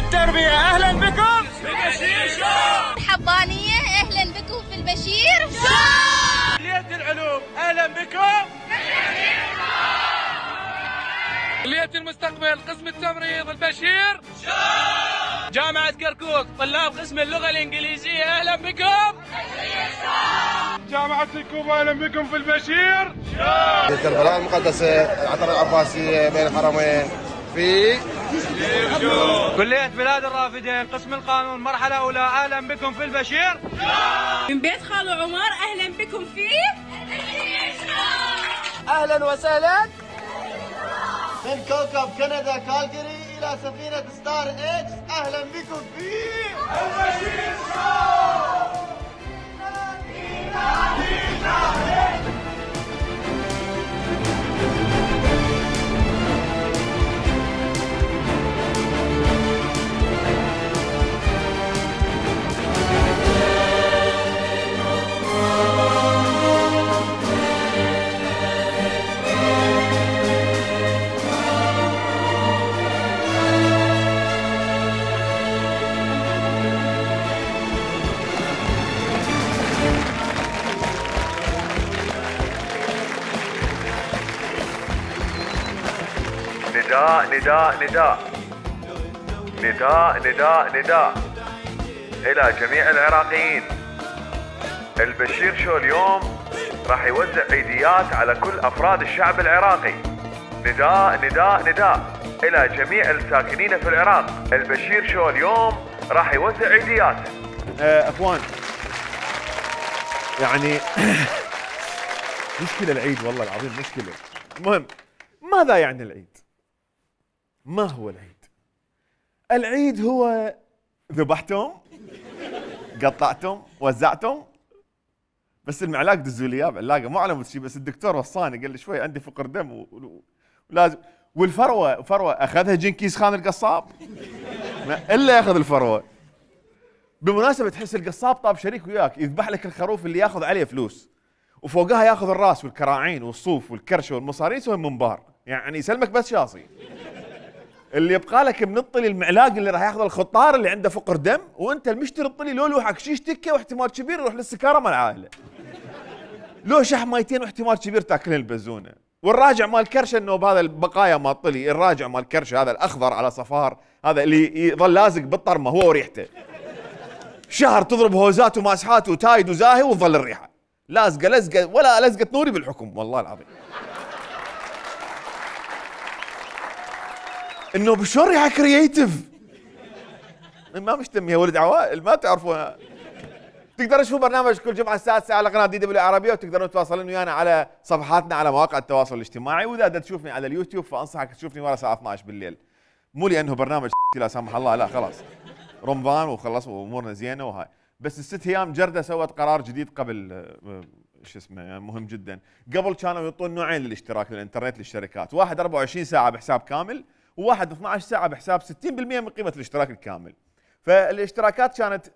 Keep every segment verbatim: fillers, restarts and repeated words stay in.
التربية، أهلا بكم في البشير شو. الحضانية أهلا بكم في البشير شو. كلية العلوم أهلا بكم في البشير شو. كلية المستقبل قسم التمريض البشير شو. جامعة كركوك طلاب قسم اللغة الإنجليزية أهلا بكم البشير شو. جامعة الكوبا أهلا بكم في البشير شو. كربلاء المقدسة العطر العباسية بين الحرمين في كلية بلاد الرافدين قسم القانون مرحلة أولى أهلا بكم في البشير شو. من بيت خالو عمر أهلا بكم في البشير شو. أهلا وسهلا من كوكب كندا كالجري إلى سفينة ستار إكس أهلا بكم في البشير شو. نداء نداء نداء نداء نداء نداء إلى جميع العراقيين. البشير شو اليوم راح يوزع عيديات على كل أفراد الشعب العراقي. نداء نداء نداء إلى جميع الساكنين في العراق. البشير شو اليوم راح يوزع عيديات. أه أخوان يعني مشكلة العيد والله العظيم مشكلة. المهم ماذا يعني العيد؟ ما هو العيد؟ العيد هو ذبحتم قطعتم وزعتم بس المعلاق دزوا لي اياه بعلاقه مو على شيء بس الدكتور وصاني قال لي شوي عندي فقر دم ولازم والفروه فروه اخذها جنكيز خان القصاب الا ياخذ الفروه. بالمناسبه تحس القصاب طاب شريك وياك يذبح لك الخروف اللي ياخذ عليه فلوس وفوقها ياخذ الراس والكراعين والصوف والكرشه والمصارين يسوي منبار يعني يسلمك بس شاصي. اللي يبقى لك منطلي المعلاق اللي راح ياخذ الخطار اللي عنده فقر دم وانت المشتري الطلي لو لوحك شيش تكه واحتمال كبير يروح للسكاره مال العائله. لو شحميتين واحتمال كبير تاكلين البزونه. والراجع مال كرشه النوب هذا البقايا مال طلي الراجع مال كرشه هذا الاخضر على صفار هذا اللي يظل لازق بالطرمه هو وريحته. شهر تضرب هوزات وماسحات وتايد وزاهي وتظل الريحه. لازقه لزقه ولا لزقه نوري بالحكم والله العظيم. انه بشلون ريحه كرييتيف ما مشتم يا ولد عوائل ما تعرفونها. تقدروا تشوفوا برنامج كل جمعه الساعه تسعة على قناه دي دبليو العربيه وتقدرون تتواصلون ويانا على صفحاتنا على مواقع التواصل الاجتماعي واذا بدك تشوفني على اليوتيوب فانصحك تشوفني ورا الساعه اثنعش بالليل. مو لانه برنامج لا سامح الله لا خلاص رمضان وخلص وامورنا زينه وهاي بس الست ايام جرده سوت قرار جديد قبل شو اسمه يعني مهم جدا. قبل كانوا يعطون نوعين للاشتراك للانترنت للشركات واحد أربعة وعشرين ساعه بحساب كامل وواحد اثنعش ساعه بحساب ستين بالمئة من قيمه الاشتراك الكامل. فالاشتراكات كانت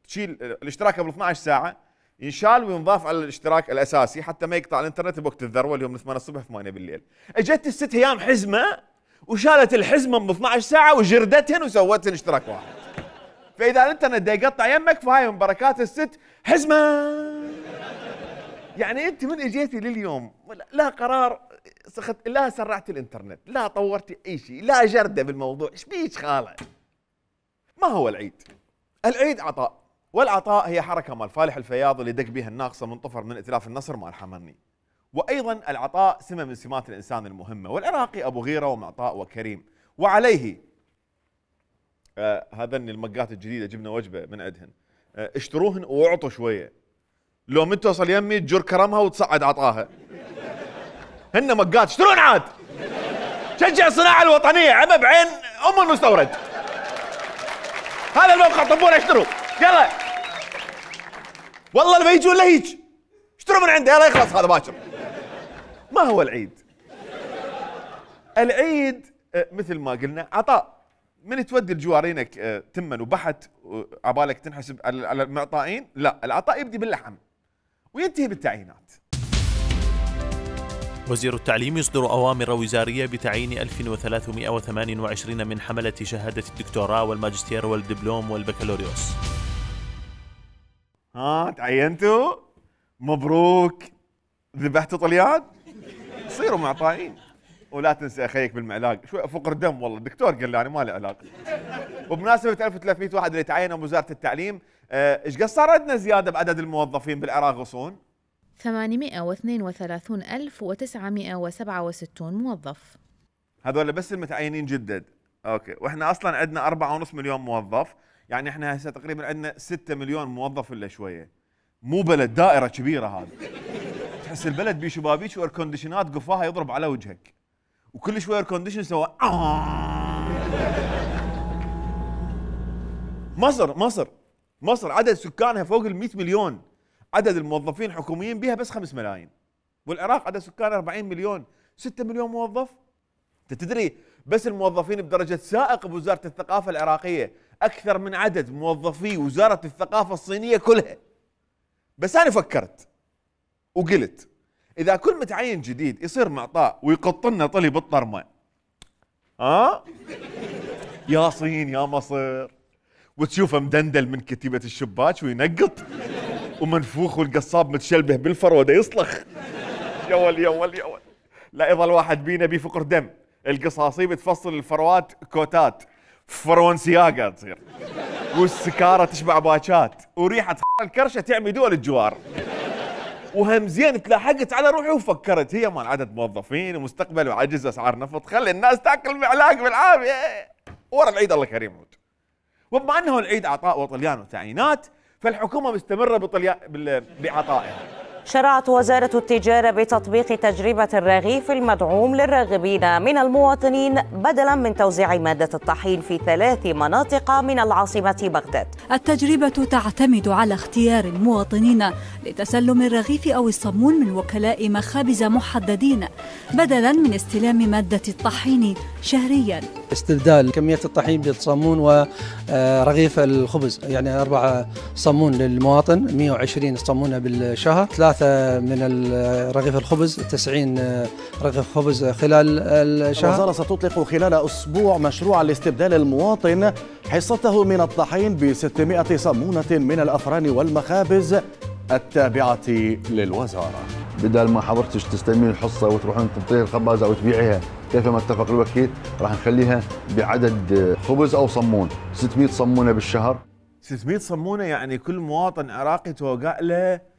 تشيل الاشتراك قبل اثنعش ساعه ينشال وينضاف على الاشتراك الاساسي حتى ما يقطع الانترنت بوقت الذروه اللي هو من ثمانية الصبح ثمانية بالليل. اجت الست ايام حزمه وشالت الحزمه من اثنعش ساعه وجردتهن وسوتهن اشتراك واحد. فاذا الانترنت دا يقطع يمك فهاي من بركات الست حزمه. يعني انت من اجيتي لليوم لا قرار سخت لا سرعت الانترنت لا طورتي اي شيء لا جرده بالموضوع ايش بيك خاله. ما هو العيد؟ العيد عطاء والعطاء هي حركه مال فالح الفياض اللي دق بها الناقصه منطفر من ائتلاف النصر مع الحمرني. وايضا العطاء سمه من سمات الانسان المهمه والعراقي ابو غيره ومعطاء وكريم وعليه آه هذن المقات الجديده جبنا وجبه من عندهن آه اشتروهن واعطوا شويه. لو من توصل يمي تجر كرمها وتصعد عطاها. هن مقات اشترون عاد. شجع الصناعه الوطنيه عمى بعين ام المستورد. هذا الموقع طبونا اشتروا يلا. والله اللي بيجون له هيج اشتروا من عنده يلا يخلص هذا باكر. ما هو العيد؟ العيد مثل ما قلنا عطاء. من تودي لجوارينك تمن وبحت عبالك تنحسب على المعطائين؟ لا، العطاء يبدي باللحم وينتهي بالتعيينات. وزير التعليم يصدر أوامر وزارية بتعيين ألف وثلاثمائة وثمانية وعشرين من حملة شهادة الدكتوراه والماجستير والدبلوم والبكالوريوس. ها تعينتوا؟ مبروك. ذبحتوا طليان؟ صيروا معطائين. ولا تنسى اخيك بالمعلاق، شوي فقر دم والله، الدكتور قال لي انا ما لي علاقه. وبمناسبه ألف وثلاثمائة واحد اللي تعينوا بوزاره التعليم، ايش قد صار عندنا زياده بعدد الموظفين بالعراق غصون؟ ثمانمائة واثنين وثلاثين ألف وتسعمائة وسبعة وستين موظف. هذول بس المتعينين جدد. اوكي، واحنا اصلا عندنا أربعة ونص مليون موظف، يعني احنا هسه تقريبا عندنا ستة مليون موظف الا شويه. مو بلد، دائره كبيره هذا. تحس البلد بيه شبابيك واير كونديشنات قفاها يضرب على وجهك. وكل شوي اير كونديشن سوى مصر مصر مصر عدد سكانها فوق ال مئة مليون، عدد الموظفين الحكوميين بها بس خمسة ملايين. والعراق عدد سكانه أربعين مليون، ستة مليون موظف. انت تدري بس الموظفين بدرجه سائق بوزاره الثقافه العراقيه اكثر من عدد موظفي وزاره الثقافه الصينيه كلها. بس انا فكرت وقلت اذا كل متعين جديد يصير معطاء ويقط لنا طلي بالطرمه، ها يا صين يا مصر، وتشوفه مدندل من كتيبه الشباك وينقط، ومنفوخ والقصاب متشلبه بالفر ودا يصلخ. يا ول يا ول يا ول. لا يظل واحد بينا بي فقر دم، القصاصي بتفصل الفروات كوتات، فرونسياقه تصير، والسكاره تشبع باكات، وريحه الكرشه تعمي دول الجوار. وهم زين تلاحقت على روحي وفكرت هي مال عدد موظفين ومستقبل وعجز اسعار نفط، خلي الناس تاكل معلاق بالعافيه ورا العيد الله كريم. وبما انه العيد عطاء وطليان وتعيينات، فالحكومه مستمره بطليان بعطائها. شرعت وزارة التجارة بتطبيق تجربة الرغيف المدعوم للراغبين من المواطنين بدلا من توزيع مادة الطحين في ثلاث مناطق من العاصمة بغداد. التجربة تعتمد على اختيار المواطنين لتسلم الرغيف أو الصمون من وكلاء مخابز محددين بدلا من استلام مادة الطحين شهريا. استبدال كمية الطحين بالصمون ورغيف الخبز، يعني أربعة صمون للمواطن، مئة وعشرين صمونة بالشهر، ثلاثة من رغيف الخبز، تسعين رغيف خبز خلال الشهر. الوزارة ستطلق خلال أسبوع مشروعا لاستبدال المواطن حصته من الطحين ب ستمائة صمونة من الأفران والمخابز التابعة للوزارة. بدل ما حضرتك تستلمين الحصة وتروحون تنطيها الخبازة أو تبيعيها كيفما اتفق الوكيل، راح نخليها بعدد خبز أو صمون، ستمائة صمونة بالشهر. ستمائة صمونة يعني كل مواطن عراقي توقع له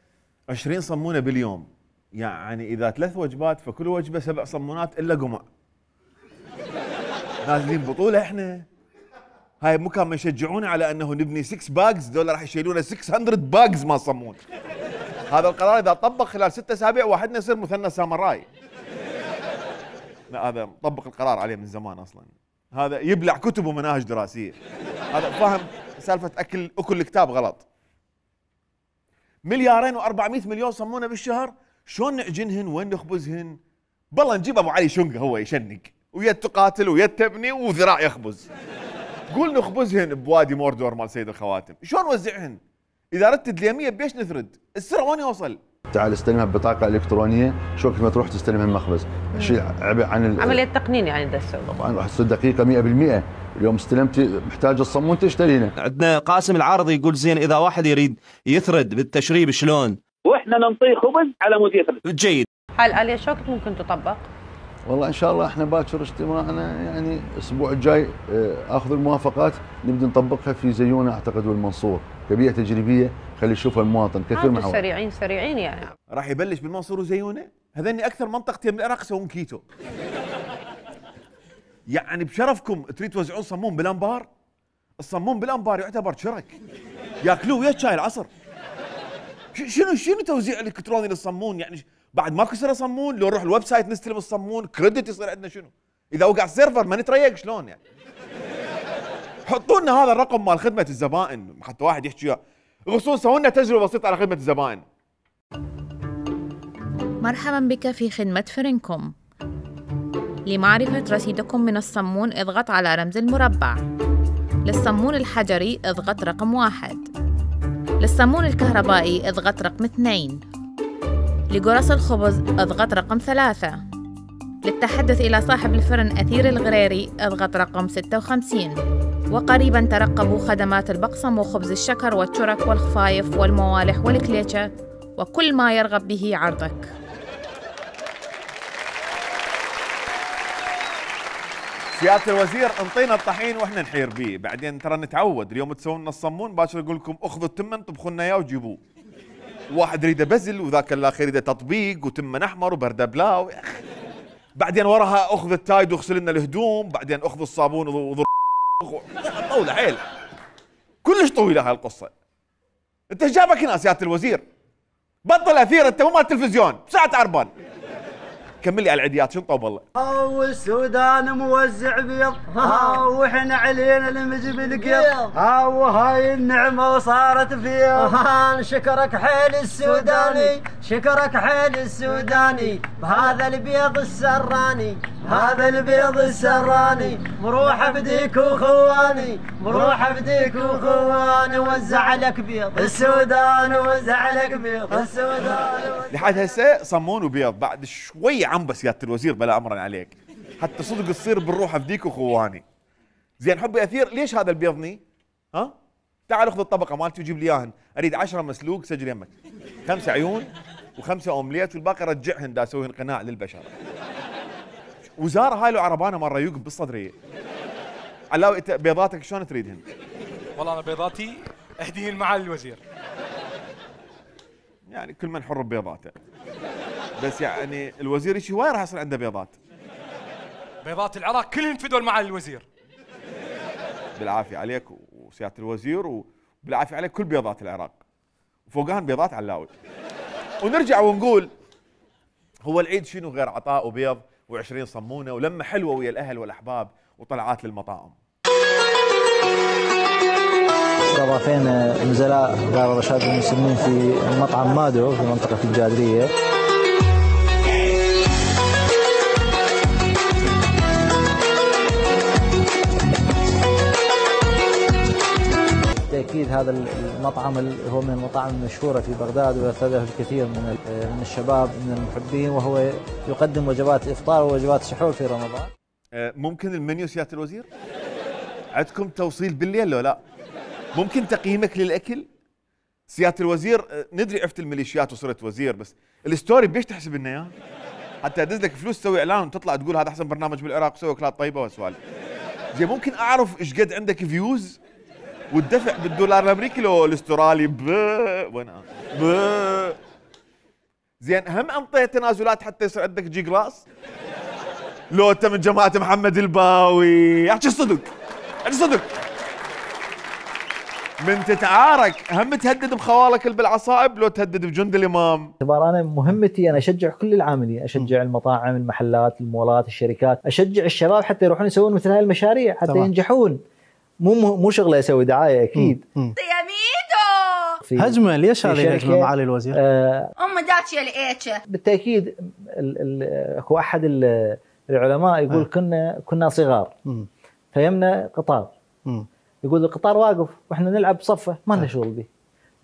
عشرين صمونة باليوم، يعني إذا ثلاث وجبات فكل وجبة سبع صمونات إلا قمع. نازلين بطولة إحنا. هاي مو كانوا يشجعونا على أنه نبني ستة باجز، دول راح يشيلونا ستمائة باجز ما صمون. هذا القرار إذا طبق خلال ستة أسابيع واحدنا يصير مثنى سامراي. لا هذا مطبق القرار عليه من زمان أصلا. هذا يبلع كتب ومناهج دراسية. هذا فاهم سالفة أكل أكل الكتاب غلط. مليارين وأربعمائة مليون صمونة بالشهر، شلون نعجنهن وين نخبزهن؟ بالله نجيب ابو علي شنقه هو يشنق، ويد تقاتل ويد تبني وذراع يخبز. قول نخبزهن بوادي موردور مال سيد الخواتم، شلون نوزعهن؟ اذا ردت اليميه بيش نثرد؟ السر وين يوصل؟ تعال استلمها ببطاقه الكترونيه، شو وقت ما تروح تستلمها المخبز، شيء عبء عن عمليه تقنين يعني ده تسوي. طبعا راح تصير دقيقه مئة بالمئة، اليوم استلمتي محتاج الصمون تشترينه. عندنا قاسم العارض يقول زين اذا واحد يريد يثرد بالتشريب شلون؟ واحنا ننطيه خبز على مود يثرد. جيد. هاي الآلية شو وقت ممكن تطبق؟ والله ان شاء الله احنا باكر اجتماعنا يعني الاسبوع الجاي اخذ الموافقات نبدا نطبقها في زيونه اعتقد والمنصور كبيئه تجريبيه خلي يشوفها المواطن كثير من سريعين سريعين يعني. راح يبلش بالمنصور وزيونه؟ هذني اكثر منطقتين من العراق يسوون كيتو. يعني بشرفكم تريد توزعون صمون بالانبار؟ الصمون بالانبار يعتبر شرك. ياكلوه ويا شاي العصر. شنو شنو توزيع الالكتروني للصمون يعني؟ بعد ماكو يصير صمون، لو نروح الويب سايت نستلم الصمون، كريدت يصير عندنا شنو؟ اذا وقع السيرفر ما نتريق شلون يعني؟ حطوا لنا هذا الرقم مال خدمه الزبائن حتى واحد يحكي وياه. غصون سووا لنا تجربه بسيطه على خدمه الزبائن. مرحبا بك في خدمة فرنكوم. لمعرفة رصيدكم من الصمون اضغط على رمز المربع. للصمون الحجري اضغط رقم واحد. للصمون الكهربائي اضغط رقم اثنين. لقرص الخبز اضغط رقم ثلاثة. للتحدث إلى صاحب الفرن أثير الغريري اضغط رقم ستة وخمسين. وقريبا ترقبوا خدمات البقسم وخبز الشكر والترك والخفايف والموالح والكليتشة وكل ما يرغب به عرضك. سيادة الوزير انطينا الطحين واحنا نحير بيه، بعدين ترى نتعود، اليوم تسوون لنا الصمون باكر اقول لكم اخذوا التمن طبخوا لنا اياه وجيبوه. واحد يريده بزل وذاك الاخر يريده تطبيق وتمن احمر وبرده بلاو. بعدين وراها اخذ التايد واغسل لنا الهدوم، بعدين اخذ الصابون وضر طوله حيل. كلش طويله هالقصه. انت ايش جابك هنا سيادة الوزير؟ بطل اثير، انت مو مال تلفزيون، بساعة عربان. كمل لي على العيديات شو طوب والله. هاو السودان موزع بيض، هاو واحنا علينا المجيب القيض، هاو هاي النعمه وصارت فيض. شكرك حيل السوداني، شكرك حيل السوداني، بهذا البيض السراني، هذا البيض السراني، مروح بديك وخواني، مروح بديك وخواني، وزع لك بيض السودان، وزع لك بيض السودان. لحد هسه صمون وبيض، بعد شوي عنبه سيادة الوزير بلا امرا عليك، حتى صدق تصير بالروح بديك وخواني. زين حبي اثير، ليش هذا البيضني؟ ها؟ تعال اخذ الطبقه مالتي وجيب لي اياهن، اريد عشرة مسلوق سجل يمك، خمسة عيون وخمسة اومليت والباقي رجعهن دا اسويهن قناع للبشر. وزاره هاي لو عربانه مره يوقف بالصدريه. علاوي انت بيضاتك شلون تريدهن؟ والله انا بيضاتي اهديهن مع الوزير. يعني كل من حر ببيضاته. بس يعني الوزير شي وين راح يصير عنده بيضات؟ بيضات العراق كلهن فدول مع الوزير. بالعافيه عليك وسياده الوزير وبالعافيه عليك كل بيضات العراق. وفوقهن بيضات علاوي. ونرجع ونقول هو العيد شنو غير عطاء وبيض وعشرين صمونه ولمه حلوه ويا الاهل والاحباب وطلعات للمطاعم. استضافينا نزلاء دار رشاد المسلمين في مطعم مادو في منطقة الجادرية. بالتأكيد هذا المطعم هو من المطاعم المشهورة في بغداد ويرتاده الكثير من من الشباب من المحبين، وهو يقدم وجبات إفطار ووجبات سحور في رمضان. ممكن المنيو سيادة الوزير؟ عندكم توصيل بالليل لو لا؟ ممكن تقييمك للاكل؟ سياده الوزير ندري عفت الميليشيات وصرت وزير، بس الستوري بيش تحسب لنا اياه؟ حتى ادز لك فلوس تسوي اعلان وتطلع تقول هذا احسن برنامج بالعراق وسوي اكلات طيبه وسوالف. زين ممكن اعرف ايش قد عندك فيوز والدفع بالدولار الامريكي لو الاسترالي؟ ب وين ب زين هم انطيت تنازلات حتى يصير عندك جي كلاس؟ لو انت من جماعه محمد الباوي احكي الصدق، احكي الصدق. من تتعارك هم تهدد بخوالك بالعصائب لو تهدد بجند الامام؟ اعتبار انا مهمتي انا اشجع كل العاملين، اشجع المطاعم، المحلات، المولات، الشركات، اشجع الشباب حتى يروحون يسوون مثل هاي المشاريع حتى طبعا. ينجحون. مو مو شغله يسوي دعايه اكيد. يا ميدو هجمه، ليش هذه الهجمه معالي الوزير؟ آه ام داتشي الايتشه. بالتاكيد اكو احد العلماء يقول آه. كنا كنا صغار م. فيمنا قطار م. يقول القطار واقف واحنا نلعب بصفه ما لنا شغل به،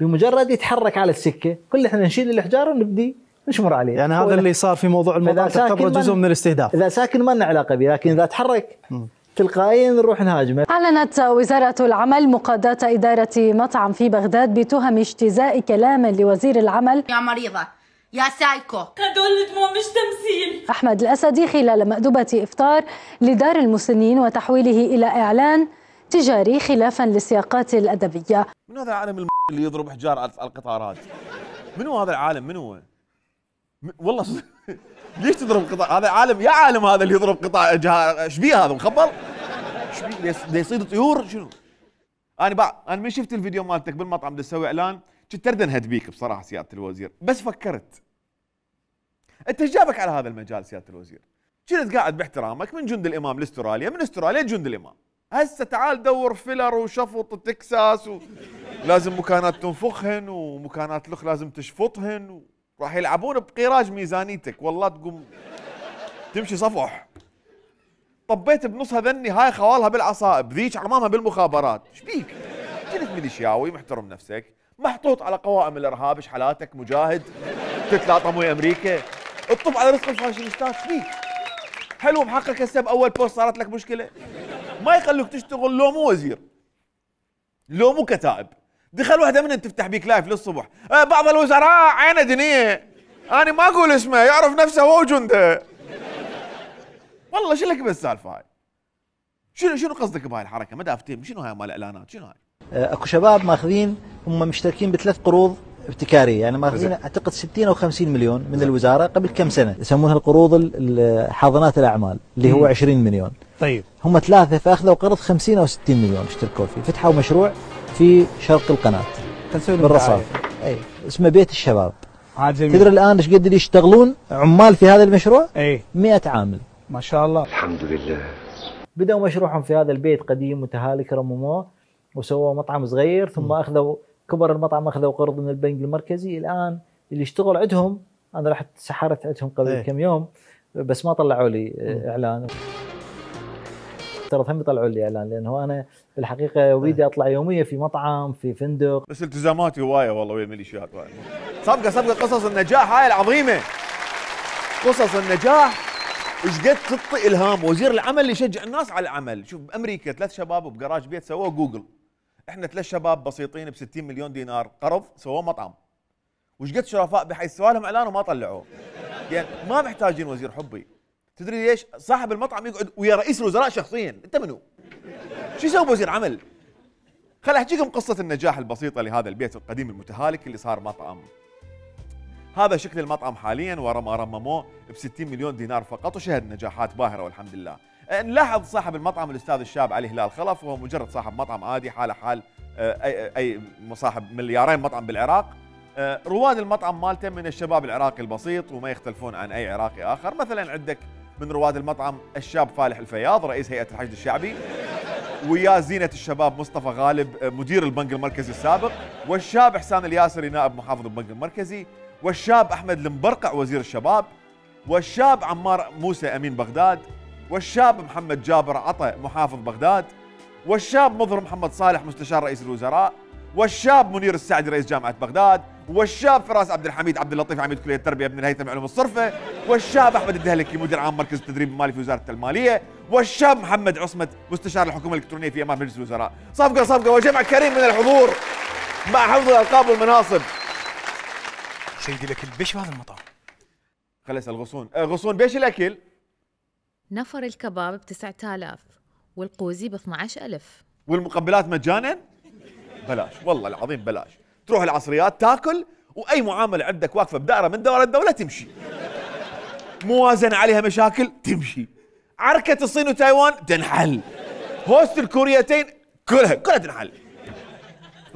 بمجرد يتحرك على السكه كل احنا نشيل الحجار ونبدي نشمر عليه. يعني هذا اللي صار في موضوع المطار تعتبره جزء من الاستهداف. اذا ساكن ما لنا علاقه به، لكن اذا تحرك م. تلقائيا نروح نهاجمه. أعلنت وزارة العمل مقاضاة إدارة مطعم في بغداد بتهم اجتزاء كلام لوزير العمل يا مريضة يا سايكو. هدول دموع مش تمثيل. أحمد الأسدي خلال مأدبة إفطار لدار المسنين وتحويله إلى إعلان تجاري خلافا للسياقات الأدبية. من هذا العالم الم... اللي يضرب حجار على القطارات؟ من هو هذا العالم؟ من هو؟ م... والله صدق ليش تضرب قطار؟ هذا عالم يا عالم هذا اللي يضرب قطار جها... ايش بيه هذا مخبل؟ ايش بيه؟ ده يصيد طيور شنو؟ انا بقى انا من شفت الفيديو مالتك بالمطعم بدي اسوي اعلان كنت ارد انهد بيك بصراحه سياده الوزير، بس فكرت انت ايش جابك على هذا المجال سياده الوزير؟ كنت قاعد باحترامك من جند الامام لاستراليا، من استراليا لجند الامام، هسه تعال دور فيلر وشفط تكساس ولازم مكانات تنفخهن ومكانات الاخ لازم تشفطهن وراح يلعبون بقيراج ميزانيتك، والله تقوم تمشي صفح. طبيت بنص هذني هاي خوالها بالعصائب، ذيك عمامها بالمخابرات، ايش بيك؟ كنت ميليشياوي محترم نفسك، محطوط على قوائم الارهاب، ايش حالاتك؟ مجاهد تتلاطم ويا امريكا، اطب على رزق الفاشينيستات. فيك حلو محقق هسه باول بوست صارت لك مشكله، ما يخلوك تشتغل لو مو وزير لو مو كتائب. دخل واحده منهم تفتح بيك لايف للصبح، أه بعض الوزراء عينه دنيه، انا ما اقول اسمه يعرف نفسه هو وجنده. والله شو لك بالسالفه هاي؟ شنو شنو قصدك بهاي الحركه؟ ما دافتهم شنو هاي مال الاعلانات؟ شنو هاي؟ اكو شباب ماخذين هم مشتركين بثلاث قروض ابتكاريه، يعني ماخذين اعتقد ستين او خمسين مليون من الوزاره قبل كم سنه، يسمونها القروض حاضنات الاعمال اللي هو عشرين مليون. طيب هم ثلاثه فاخذوا قرض خمسين او ستين مليون اشتركوا فيه، فتحوا مشروع في شرق القناه بالرصاف، اي اسمه بيت الشباب. تدري الان ايش قد يشتغلون عمال في هذا المشروع؟ اي مئة عامل ما شاء الله. الحمد لله. بدأوا مشروعهم في هذا البيت قديم متهالك، رمموه وسووا مطعم صغير، ثم اخذوا كبر المطعم، اخذوا قرض من البنك المركزي. الان اللي يشتغل عندهم، انا رحت سحرت عندهم قبل ايه. كم يوم، بس ما طلعوا لي اعلان. ترى هم يطلعوا لي اعلان، لانه انا بالحقيقه اريد اطلع يوميا في مطعم في فندق. بس التزاماتي هوايه والله ويا الميليشيات. صفقه صفقه قصص النجاح هاي العظيمه، قصص النجاح ايش قد تعطي الهام. وزير العمل اللي يشجع الناس على العمل. شوف بامريكا ثلاث شباب بجراج بيت سووا جوجل، احنا ثلاث شباب بسيطين ب ستين مليون دينار قرض سووا مطعم. وش قد شرفاء بحيث سووا لهم اعلان وما طلعوه. يعني ما محتاجين وزير حبي. تدري ليش؟ صاحب المطعم يقعد ويا رئيس الوزراء شخصيا، انت منو؟ شو يسوي بوزير عمل؟ خل احكيكم قصه النجاح البسيطه لهذا البيت القديم المتهالك اللي صار مطعم. هذا شكل المطعم حاليا ورا ما رمموه ب ستين مليون دينار فقط، وشهد نجاحات باهره والحمد لله. نلاحظ صاحب المطعم الاستاذ الشاب علي هلال خلف، وهو مجرد صاحب مطعم عادي حاله حال اي اي صاحب مليارين مطعم بالعراق. رواد المطعم مالته من الشباب العراقي البسيط وما يختلفون عن اي عراقي اخر. مثلا عندك من رواد المطعم الشاب فالح الفياض رئيس هيئه الحشد الشعبي، ويا زينه الشباب مصطفى غالب مدير البنك المركزي السابق، والشاب احسان الياسري نائب محافظ البنك المركزي، والشاب احمد المبرقع وزير الشباب، والشاب عمار موسى امين بغداد، والشاب محمد جابر عطا محافظ بغداد، والشاب مظهر محمد صالح مستشار رئيس الوزراء، والشاب منير السعدي رئيس جامعه بغداد، والشاب فراس عبد الحميد عبد اللطيف عميد كليه التربيه ابن الهيثم علوم الصرفه، والشاب احمد الدهلكي مدير عام مركز التدريب المالي في وزاره الماليه، والشاب محمد عصمت مستشار الحكومه الالكترونيه في امام مجلس الوزراء. صفقه صفقه وجمع كريم من الحضور مع حفظ الالقاب والمناصب. سيدي الاكل بيش بهذا المطعم؟ خلي اسال غصون، غصون بيش الاكل؟ نفر الكباب ب تسعة آلاف والقوزي ب اثني عشر ألف والمقبلات مجانا؟ بلاش والله العظيم بلاش. تروح العصريات تاكل واي معامله عندك واقفه بدائره من دوائر الدوله تمشي. موازنه عليها مشاكل تمشي. عركه الصين وتايوان تنحل. هوست الكوريتين كلها كلها تنحل.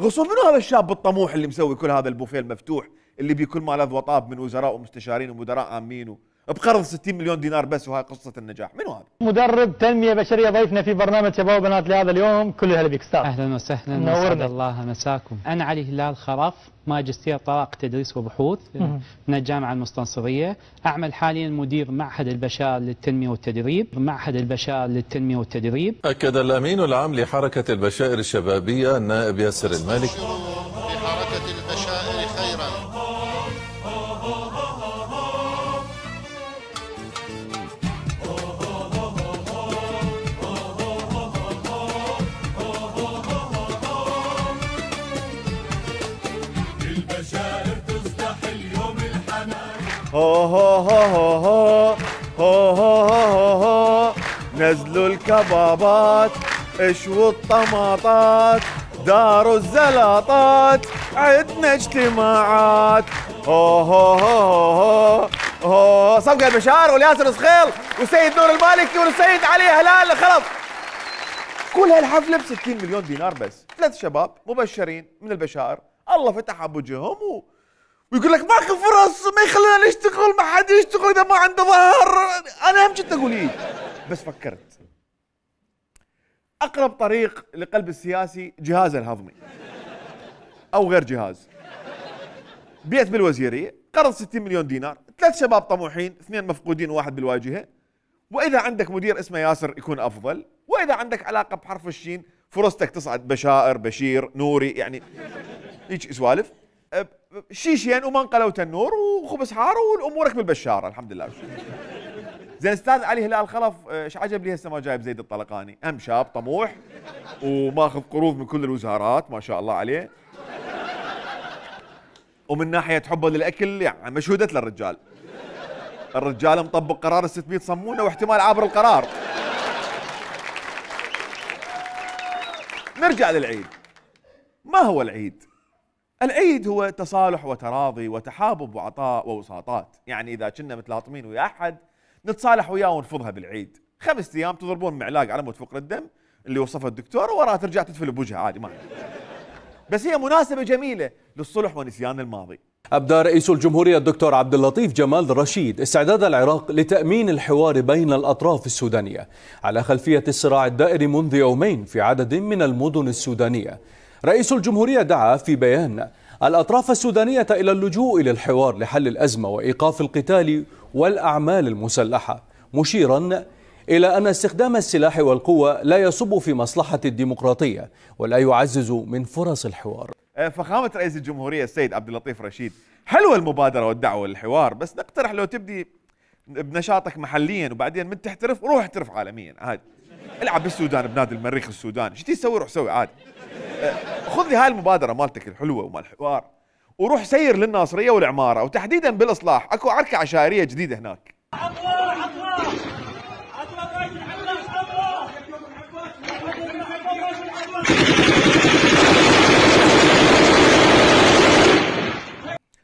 غصون منو هذا الشاب الطموح اللي مسوي كل هذا البوفيه المفتوح اللي بكل ما لذ وطاب من وزراء ومستشارين ومدراء عامين بقرض ستين مليون دينار بس، وهاي قصه النجاح؟ منو هذا؟ مدرب تنميه بشريه ضيفنا في برنامج شباب وبنات لهذا اليوم. كل هلا بك استاذ. اهلا وسهلا، اسعد الله مساكم. انا علي هلال خرف، ماجستير طرق تدريس وبحوث من الجامعه المستنصريه. اعمل حاليا مدير معهد البشار للتنميه والتدريب، معهد البشار للتنميه والتدريب. اكد الامين العام لحركه البشائر الشبابيه النائب ياسر المالك لحركه البشائر خيرا. هو هو هو هو هو هو هو هو نزلوا الكبابات اشووا الطماطات داروا الزلاطات عدنا اجتماعات. هو هو هو هو صفقة البشار والياسر صخيل وسيد نور المالكي والسيد علي هلال خلص. كل هالحفلة ب ستين مليون دينار بس. ثلاث شباب مبشرين من البشائر الله فتح ابوجهم و ويقول لك ماكو فرص، ما يخلينا نشتغل، ما حد يشتغل اذا ما عنده ظهر. انا هم كنت اقول ايه بس فكرت اقرب طريق لقلب السياسي جهازه الهضمي او غير جهاز. بيت بالوزيريه، قرض ستين مليون دينار، ثلاث شباب طموحين، اثنين مفقودين وواحد بالواجهه. واذا عندك مدير اسمه ياسر يكون افضل، واذا عندك علاقه بحرف الشين فرصتك تصعد بشائر، بشير، نوري، يعني هيك سوالف. شيشين ومنقله وتنور وخبز حار وامورك بالبشاره الحمد لله. زين استاذ علي هلال الخلف ايش عجب لي هسه ما جايب زيد الطلقاني؟ ام شاب طموح وماخذ قروض من كل الوزارات ما شاء الله عليه. ومن ناحيه حبه للاكل يعني مشهودت للرجال. الرجال مطبق قرار ال ستمئة صمونه واحتمال عابر القرار. نرجع للعيد. ما هو العيد؟ العيد هو تصالح وتراضي وتحابب وعطاء ووساطات، يعني اذا كنا متلاطمين ويا احد نتصالح وياه ونفضها بالعيد، خمس ايام تضربون معلاق على مود فقر الدم اللي وصفها الدكتور ووراه ترجع تدفل بوجهها عادي ما بس هي مناسبة جميلة للصلح ونسيان الماضي. أبدى رئيس الجمهورية الدكتور عبد اللطيف جمال رشيد استعداد العراق لتأمين الحوار بين الأطراف السودانية على خلفية الصراع الدائر منذ يومين في عدد من المدن السودانية. رئيس الجمهورية دعا في بيان الأطراف السودانية إلى اللجوء إلى الحوار لحل الأزمة وإيقاف القتال والأعمال المسلحة، مشيرا إلى أن استخدام السلاح والقوة لا يصب في مصلحة الديمقراطية ولا يعزز من فرص الحوار. فخامة رئيس الجمهورية السيد عبد اللطيف رشيد، حلوة المبادرة والدعوة للحوار، بس نقترح لو تبدي بنشاطك محليا وبعدين من تحترف روح احترف عالميا عادي. العب بالسودان بنادي المريخ السوداني، شو تسوي روح سوي عادي. خذ لي هاي المبادرة مالتك الحلوة ومال الحوار وروح سير للناصرية والعمارة وتحديدا بالإصلاح، اكو عركة عشائرية جديدة هناك.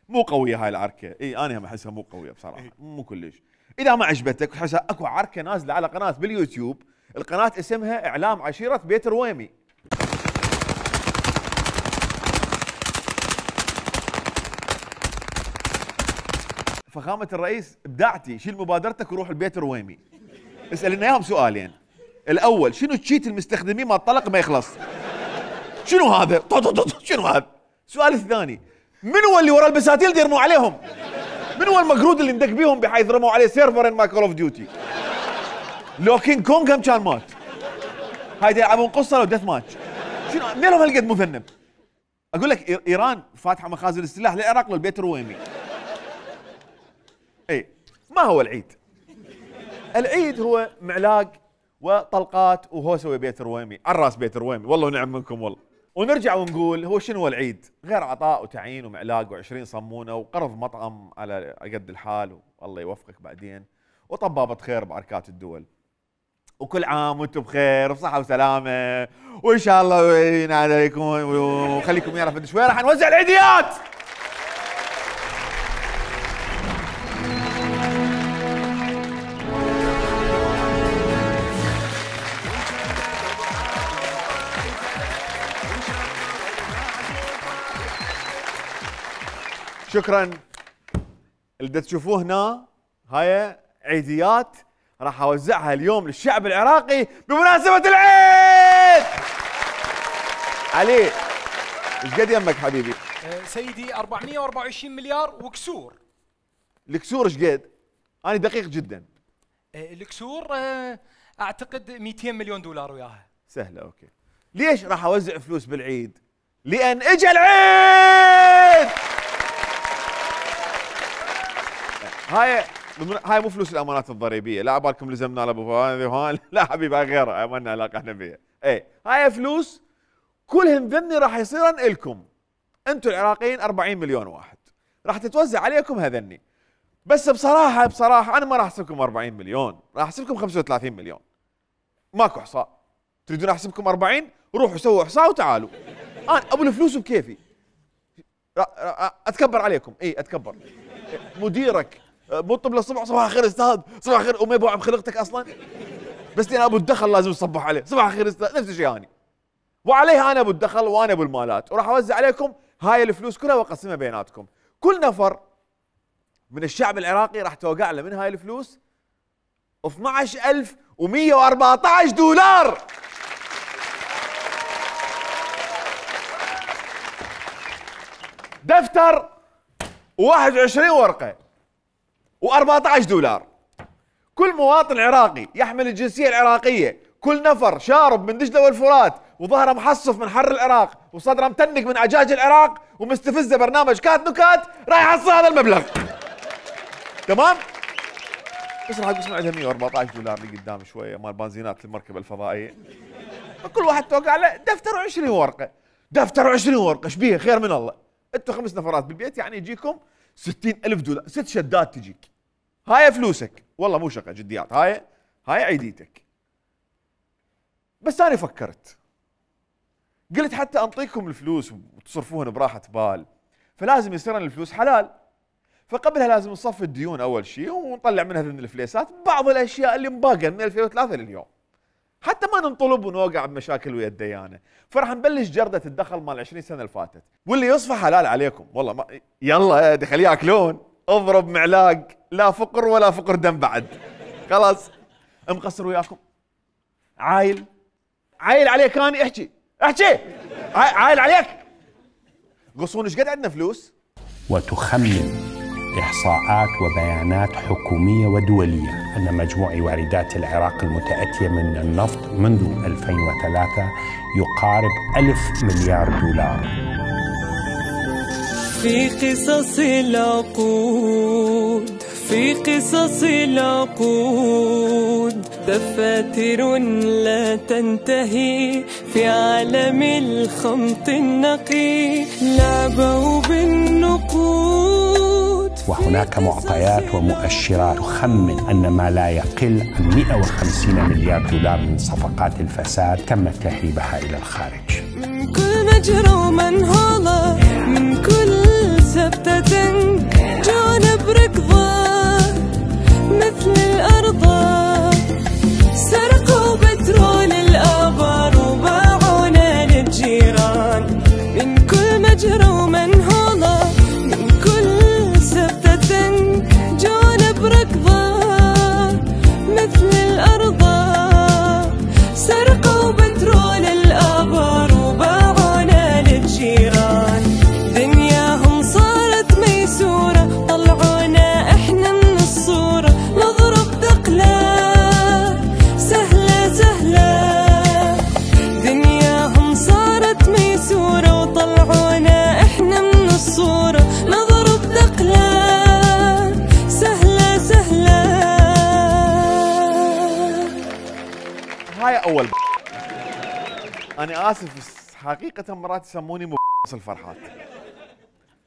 مو قوية هاي العركة، اي انا هم احسها مو قوية بصراحة، مو كلش. اذا ما عجبتك تحسها اكو عركة نازلة على قناة باليوتيوب، القناة اسمها اعلام عشيرة بيت رويمي. فخامة الرئيس ابدعتي، شيل مبادرتك وروح البيت الرويمي. اسأل لنا اياهم سؤالين. الاول شنو تشيت المستخدمين ما الطلق ما يخلص؟ شنو هذا؟ شنو هذا؟ السؤال الثاني من هو اللي ورا البساتيل اللي يرموا عليهم؟ من هو المقرود اللي ندق بيهم بحيث رموا عليه سيرفر ان ماي كول اوف ديوتي؟ لو كينج كونغ هم كان مات. هاي يلعبون قصه لو ديث ماتش. شنو منين لهم هالقد مذنب؟ اقول لك ايران فاتحه مخازن السلاح للعراق للبيت الرويمي. اي ما هو العيد؟ العيد هو معلاق وطلقات وهوسه وبيت الرويمي، على راس بيت الرويمي، والله ونعم منكم والله. ونرجع ونقول هو شنو هو العيد؟ غير عطاء وتعيين ومعلاق وعشرين صمونه وقرض مطعم على قد الحال والله يوفقك بعدين، وطبابه خير باركات الدول. وكل عام وانتم بخير وبصحه وسلامه، وان شاء الله ينعاد عليكم وخليكم يعرف قد شوي راح نوزع العيديات. شكرا. اللي تشوفوه هنا هاي عيديات راح اوزعها اليوم للشعب العراقي بمناسبة العيد. علي ايش قد يمك حبيبي؟ سيدي أربعمئة وأربعة وعشرين مليار وكسور. الكسور ايش قد؟ انا دقيق جدا. الكسور اعتقد مئتين مليون دولار وياها. سهلة اوكي. ليش راح اوزع فلوس بالعيد؟ لان اجى العيد. هاي هاي مو فلوس الامانات الضريبيه، لا عبالكم لزمنا على ابو فهد، لا حبيبي هاي غيرها ما لنا علاقه احنا بيها. اي هاي فلوس كلهم ذني راح يصيرن الكم انتم العراقيين أربعين مليون واحد، راح تتوزع عليكم هذني. بس بصراحه بصراحه انا ما راح احسبكم أربعين مليون، راح احسبكم خمسة وثلاثين مليون. ماكو احصاء. تريدون احسبكم أربعين؟ روحوا سووا احصاء وتعالوا. انا ابو الفلوس بكيفي. اتكبر عليكم، اي اتكبر. مديرك مو طب للصبح صباح الخير استاذ، صباح الخير وما يبوع بخلقتك اصلا. بس انا ابو الدخل لازم تصبح عليه، صباح الخير استاذ، نفس الشيء اني. وعليها انا ابو الدخل وانا ابو المالات، وراح اوزع عليكم هاي الفلوس كلها واقسمها بيناتكم. كل نفر من الشعب العراقي راح توقع له من هاي الفلوس اثنعش ألف ومئة وأربعة عشر دولار. دفتر وواحد وعشرين ورقة وأربعة عشر دولار. كل مواطن عراقي يحمل الجنسية العراقية، كل نفر شارب من دجلة والفرات وظهره محصف من حر العراق وصدره متنق من عجاج العراق ومستفزه برنامج كات نكات راح يحصل هذا المبلغ. تمام؟ بس راح اقسم عندها مئة وأربعة عشر دولار اللي قدام شويه مال بنزينات المركبه الفضائيه. فكل واحد توقع له دفتر وعشرين ورقه. دفتر وعشرين ورقه ايش بيها خير من الله. انتم خمس نفرات بالبيت يعني يجيكم ستين ألف دولار، ست شدات تجيك. هاي فلوسك، والله مو شقه جديات، هاي هاي عيديتك. بس انا فكرت قلت حتى انطيكم الفلوس وتصرفوهن براحه بال فلازم يصير الفلوس حلال. فقبلها لازم نصفي الديون اول شيء ونطلع منها من الفليسات بعض الاشياء اللي مباقيه من ألفين وثلاثة لليوم حتى ما ننطلب ونوقع بمشاكل ويا الديانه. فراح نبلش جرده الدخل مال عشرين سنه اللي فاتت، واللي يصفى حلال عليكم والله ما يلا دخل ياكلون اضرب معلاق لا فقر ولا فقر دم بعد. خلاص مقصر وياكم عايل عايل عليك اني احكي احكي عايل عليك. قصون ايش قد عندنا فلوس؟ وتخمن إحصاءات وبيانات حكومية ودولية أن مجموع واردات العراق المتأتية من النفط منذ ألفين وثلاثة يقارب ألف مليار دولار. في قصص العقود في قصص العقود دفاتر لا تنتهي في عالم الخمط النقي لعبوا بالنقود. وهناك معطيات ومؤشرات تخمن أن ما لا يقل عن مئة وخمسين مليار دولار من صفقات الفساد تم تهريبها إلى الخارج. من كل مجرى ومنهولة من كل سبتة جون بركضة مثل الأرض سرقوا بترول الآبار وباعونا للجيران. من كل مجرى ومنهولة من كل سبتة جون بركضة مثل الأرض سرقوا بترول الآبار وباعونا للجيران. دنياهم صارت ميسورة طلعونا احنا من الصورة نضرب دقلة سهلة سهلة. دنياهم صارت ميسورة وطلعونا احنا من الصورة نضرب دقلة سهلة سهلة. هاي اول ب... انا اسف بس حقيقة مرات يسموني مبص الفرحات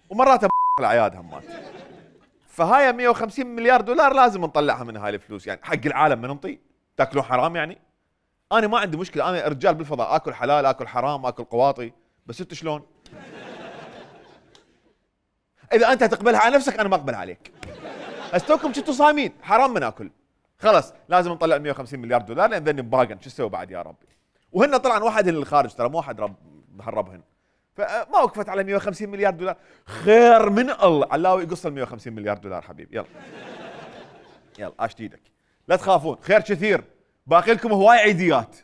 ومرات الاعياد همات. فهاي مئة وخمسين مليار دولار لازم نطلعها من هاي الفلوس يعني حق العالم ما ننطي تاكلون حرام يعني. انا ما عندي مشكله انا رجال بالفضاء اكل حلال اكل حرام اكل قواطي بس انت شلون؟ اذا انت تقبلها على نفسك انا ما اقبل عليك. استوكم كنتوا صايمين حرام من اكل خلاص لازم نطلع مئة وخمسين مليار دولار لان ذني باقن شو اسوي بعد يا ربي. وهن طلعا واحد للخارج ترى مو واحد رب هربهن فما وقفت على مئة وخمسين مليار دولار. خير من الله علاوي يقص ال مئة وخمسين مليار دولار حبيبي. يلا يلا اشت ايدك لا تخافون خير كثير باقي لكم هواي عيديات.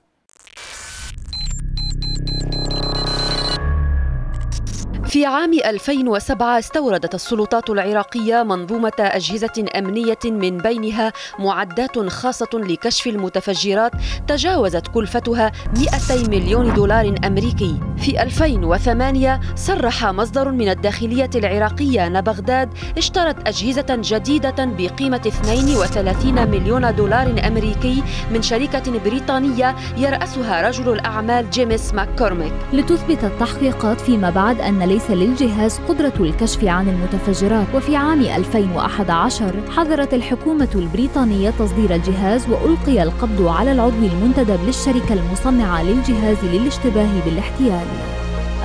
في عام ألفين وسبعة استوردت السلطات العراقية منظومة أجهزة أمنية من بينها معدات خاصة لكشف المتفجرات تجاوزت كلفتها مئتي مليون دولار أمريكي. في ألفين وثمانية صرح مصدر من الداخلية العراقية أن بغداد اشترت أجهزة جديدة بقيمة اثنين وثلاثين مليون دولار أمريكي من شركة بريطانية يرأسها رجل الأعمال جيمس ماككورميك. لتثبت التحقيقات فيما بعد أن ليس للجهاز قدرة الكشف عن المتفجرات. وفي عام ألفين وأحد عشر حظرت الحكومة البريطانية تصدير الجهاز وألقي القبض على العضو المنتدب للشركة المصنعة للجهاز للاشتباه بالاحتيال.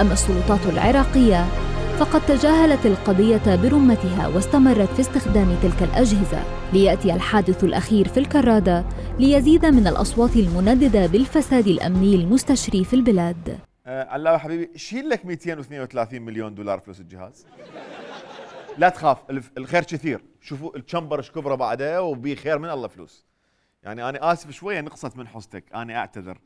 أما السلطات العراقية فقد تجاهلت القضية برمتها واستمرت في استخدام تلك الأجهزة. ليأتي الحادث الأخير في الكرادة ليزيد من الأصوات المنددة بالفساد الأمني المستشري في البلاد. آه علاوي حبيبي شيل لك مئتين واثنين وثلاثين مليون دولار فلوس الجهاز. لا تخاف الخير كثير. شوفوا الشمبر ايش كبره بعده وبي خير من الله فلوس. يعني انا اسف شويه نقصت من حصتك انا اعتذر.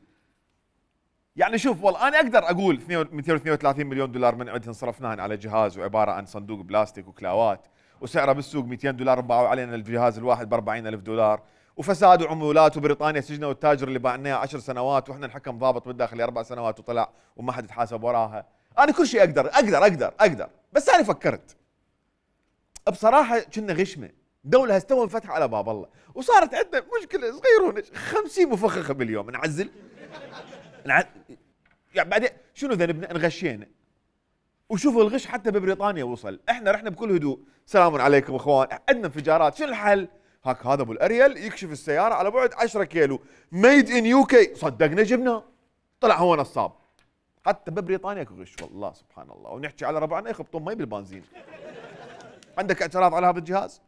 يعني شوف والله انا اقدر اقول مئتين واثنين وثلاثين مليون دولار من عندهن صرفناهن على جهاز وعباره عن صندوق بلاستيك وكلاوات وسعره بالسوق مئتين دولار باعوا علينا الجهاز الواحد ب أربعين ألف دولار وفساد وعمولات، وبريطانيا سجنوا التاجر اللي باعناه عشر سنوات، واحنا الحكم ضابط بالداخليه اربع سنوات وطلع وما حد يتحاسب وراها. انا كل شيء اقدر اقدر اقدر اقدر بس انا فكرت بصراحه كنا غشمه، دوله هستوى انفتح على باب الله، وصارت عندنا مشكله صغيرونه خمسين مفخخه باليوم نعزل نع... يعني بعدين شنو ذنبنا؟ انغشينا. وشوفوا الغش حتى ببريطانيا وصل، احنا رحنا بكل هدوء، سلام عليكم اخوان، عندنا انفجارات، شنو الحل؟ هاك هذا ابو الاريل يكشف السياره على بعد عشرة كيلو، ميد ان يو كي، صدقنا جبناه، طلع هو نصاب. حتى ببريطانيا اكو غش والله سبحان الله، ونحكي على ربعنا يخبطون مي بالبنزين. عندك اعتراض على هذا الجهاز؟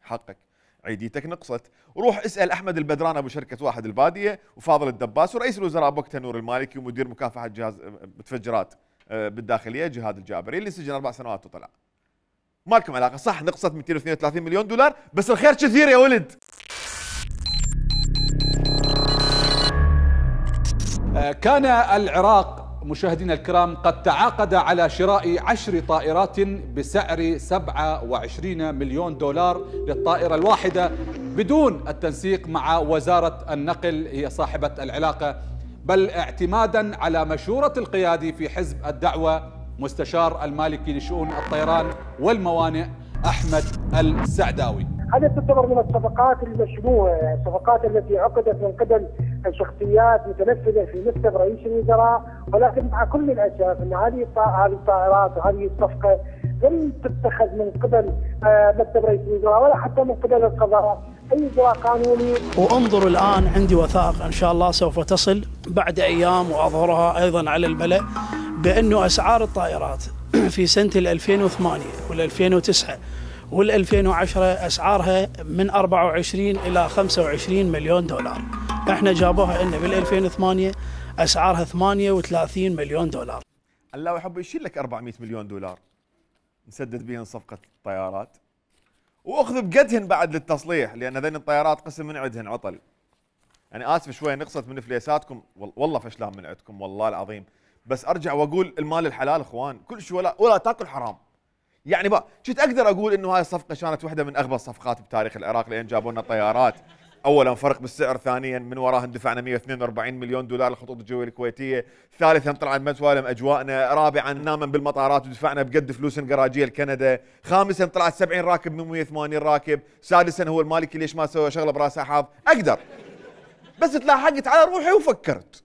حقك، عيديتك نقصت، وروح اسال احمد البدران ابو شركه واحد الباديه، وفاضل الدباس، ورئيس الوزراء بوقتها نور المالكي، ومدير مكافحه جهاز متفجرات بالداخليه جهاد الجابري اللي سجن اربع سنوات وطلع. ما لكم علاقه، صح نقصت مئتين واثنين وثلاثين مليون دولار، بس الخير كثير يا ولد. كان العراق مشاهدينا الكرام قد تعاقد على شراء عشر طائرات بسعر سبعة وعشرين مليون دولار للطائرة الواحدة بدون التنسيق مع وزارة النقل هي صاحبة العلاقة، بل اعتمادا على مشورة القيادي في حزب الدعوة مستشار المالكي لشؤون الطيران والموانئ أحمد السعداوي. هذه تعتبر من الصفقات المشبوهة، الصفقات التي عقدت من قبل شخصيات متنفذة في مكتب رئيس الوزراء، ولكن مع كل الأسف أن هذه هذه الطائرات وهذه الصفقة لم تتخذ من قبل مكتب رئيس الوزراء ولا حتى من قبل القضاء أي إجراء قانوني. وانظر الآن عندي وثائق إن شاء الله سوف تصل بعد أيام وأظهرها أيضا على الملأ بأنه أسعار الطائرات في سنة ألفين وثمانية وألفين وتسعة وألفين وعشرة أسعارها من أربعة وعشرين إلى خمسة وعشرين مليون دولار. احنا جابوها لنا بال ألفين وثمانية أسعارها ثمانية وثلاثين مليون دولار. الله يحب يشيل لك أربعمئة مليون دولار نسدد بهن صفقة الطيارات، واخذ بقدهن بعد للتصليح، لأن هذين الطيارات قسم من عندهن عطل. يعني آسف شوية نقصت من فليساتكم، والله فشلان من عندكم والله العظيم، بس أرجع وأقول المال الحلال إخوان، كل شيء ولا ولا تاكل حرام. يعني بقى كنت اقدر اقول انه هاي الصفقه كانت واحده من اغبى الصفقات بتاريخ العراق، لان جابوا لنا طيارات، اولا فرق بالسعر، ثانيا من وراها دفعنا مئة واثنين وأربعين مليون دولار للخطوط الجويه الكويتيه، ثالثا طلعت مسوالم اجواءنا، رابعا ناما بالمطارات ودفعنا بقد فلوس الجراجيه لكندا، خامسا طلعت سبعين راكب من مئة وثمانين راكب، سادسا هو المالكي ليش ما سوى شغله براسه حظ. اقدر بس تلاحقت على روحي وفكرت،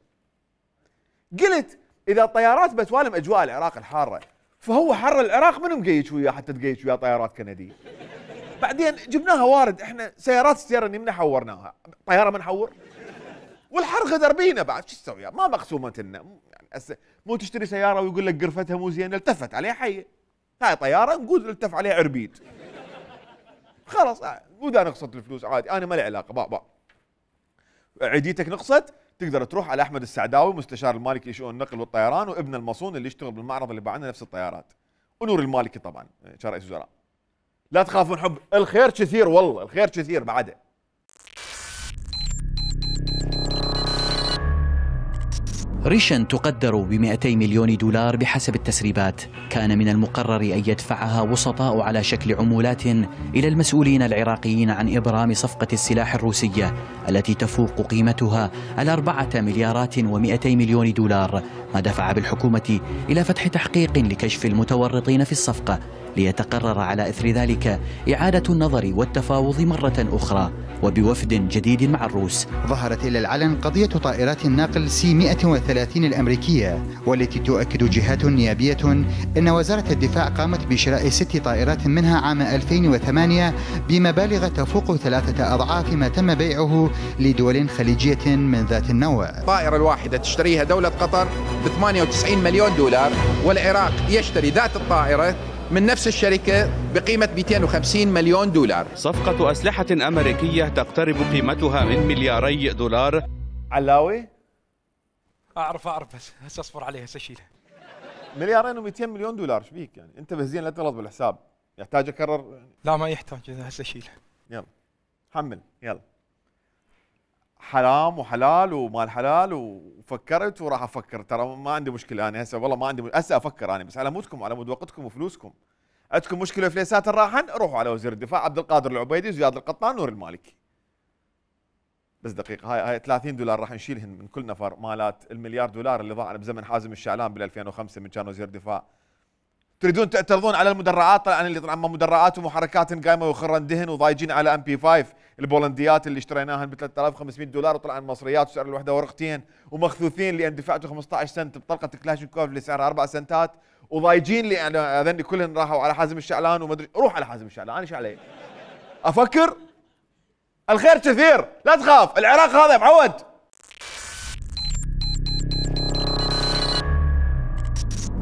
قلت اذا طيارات بتوالم اجواء العراق الحاره، فهو حر العراق من مقيش وياه حتى تقيش وياه طيارات كنديه. بعدين جبناها وارد، احنا سيارات السياره اللي من حورناها، طياره ما نحور؟ والحر غدر بينا بعد، شو تسوي؟ ما مقسومه لنا، يعني مو تشتري سياره ويقول لك قرفتها مو زينه، التفت عليها حيه. هاي طياره نقول التف عليها عربيد. خلاص وذا نقصت الفلوس عادي، انا ما لي علاقه، با با. عيديتك نقصت، تقدر تروح على احمد السعداوي مستشار المالكي لشؤون النقل والطيران، وابن المصون اللي يشتغل بالمعرض اللي باعنا نفس الطيارات، ونور المالكي طبعا كرئيس وزراء. لا تخافون، حب الخير كثير والله، الخير كثير بعده. ريشن تقدر بمئتي مليون دولار بحسب التسريبات. كان من المقرر أن يدفعها وسطاء على شكل عمولات إلى المسؤولين العراقيين عن إبرام صفقة السلاح الروسية التي تفوق قيمتها على أربعة مليارات ومئتي مليون دولار، ما دفع بالحكومة إلى فتح تحقيق لكشف المتورطين في الصفقة، ليتقرر على إثر ذلك إعادة النظر والتفاوض مرة أخرى وبوفد جديد مع الروس. ظهرت إلى العلن قضية طائرات الناقل سي مئة وثلاثين الأمريكية، والتي تؤكد جهات نيابية أن وزارة الدفاع قامت بشراء ست طائرات منها عام ألفين وثمانية بمبالغ تفوق ثلاثة أضعاف ما تم بيعه لدول خليجية من ذات النوع. الطائرة الواحدة تشتريها دولة قطر ب ثمانية وتسعين مليون دولار، والعراق يشتري ذات الطائرة من نفس الشركة بقيمة مئتين وخمسين مليون دولار. صفقة أسلحة أمريكية تقترب قيمتها من ملياري دولار. علاوي؟ أعرف أعرف بس هسه أصبر عليها، هسه أشيلها. مليارين ومئتين مليون دولار، ايش بيك يعني؟ انتبه زين لا تغلط بالحساب، يحتاج اكرر؟ لا ما يحتاج، هسه أشيلها. يلا حمل يلا. حرام وحلال ومال حلال، وفكرت وراح افكر، ترى ما عندي مشكله انا هسه، والله ما عندي هسه افكر انا، بس على مودكم وعلى مود وقتكم وفلوسكم. عندكم مشكله فليسات الراحن روحوا على وزير الدفاع عبد القادر العبيدي، زياد القطان، نور المالكي. بس دقيقه، هاي هاي ثلاثين دولار راح نشيلهن من كل نفر مالات المليار دولار اللي ضاع بزمن حازم الشعلان بال ألفين وخمسة من كان وزير دفاع. تريدون تعترضون على المدرعات؟ طبعا اللي طبعا مدرعات ومحركات قايمه وخرن دهن وضايجين على ام بي خمسة البولنديات اللي اشتريناهن ب ثلاثة آلاف وخمسمئة دولار وطلعن مصريات وسعر الوحده ورقتين ومخثوثين لان دفعتوا خمسة عشر سنت بطلقه كلاشينكوف اللي سعرها أربع سنتات وضايجين لي يعني هذني كلهن راحوا على حازم الشعلان ومدري. روح على حازم الشعلان، انا ايش علي؟ افكر الخير كثير، لا تخاف، العراق هذا معود.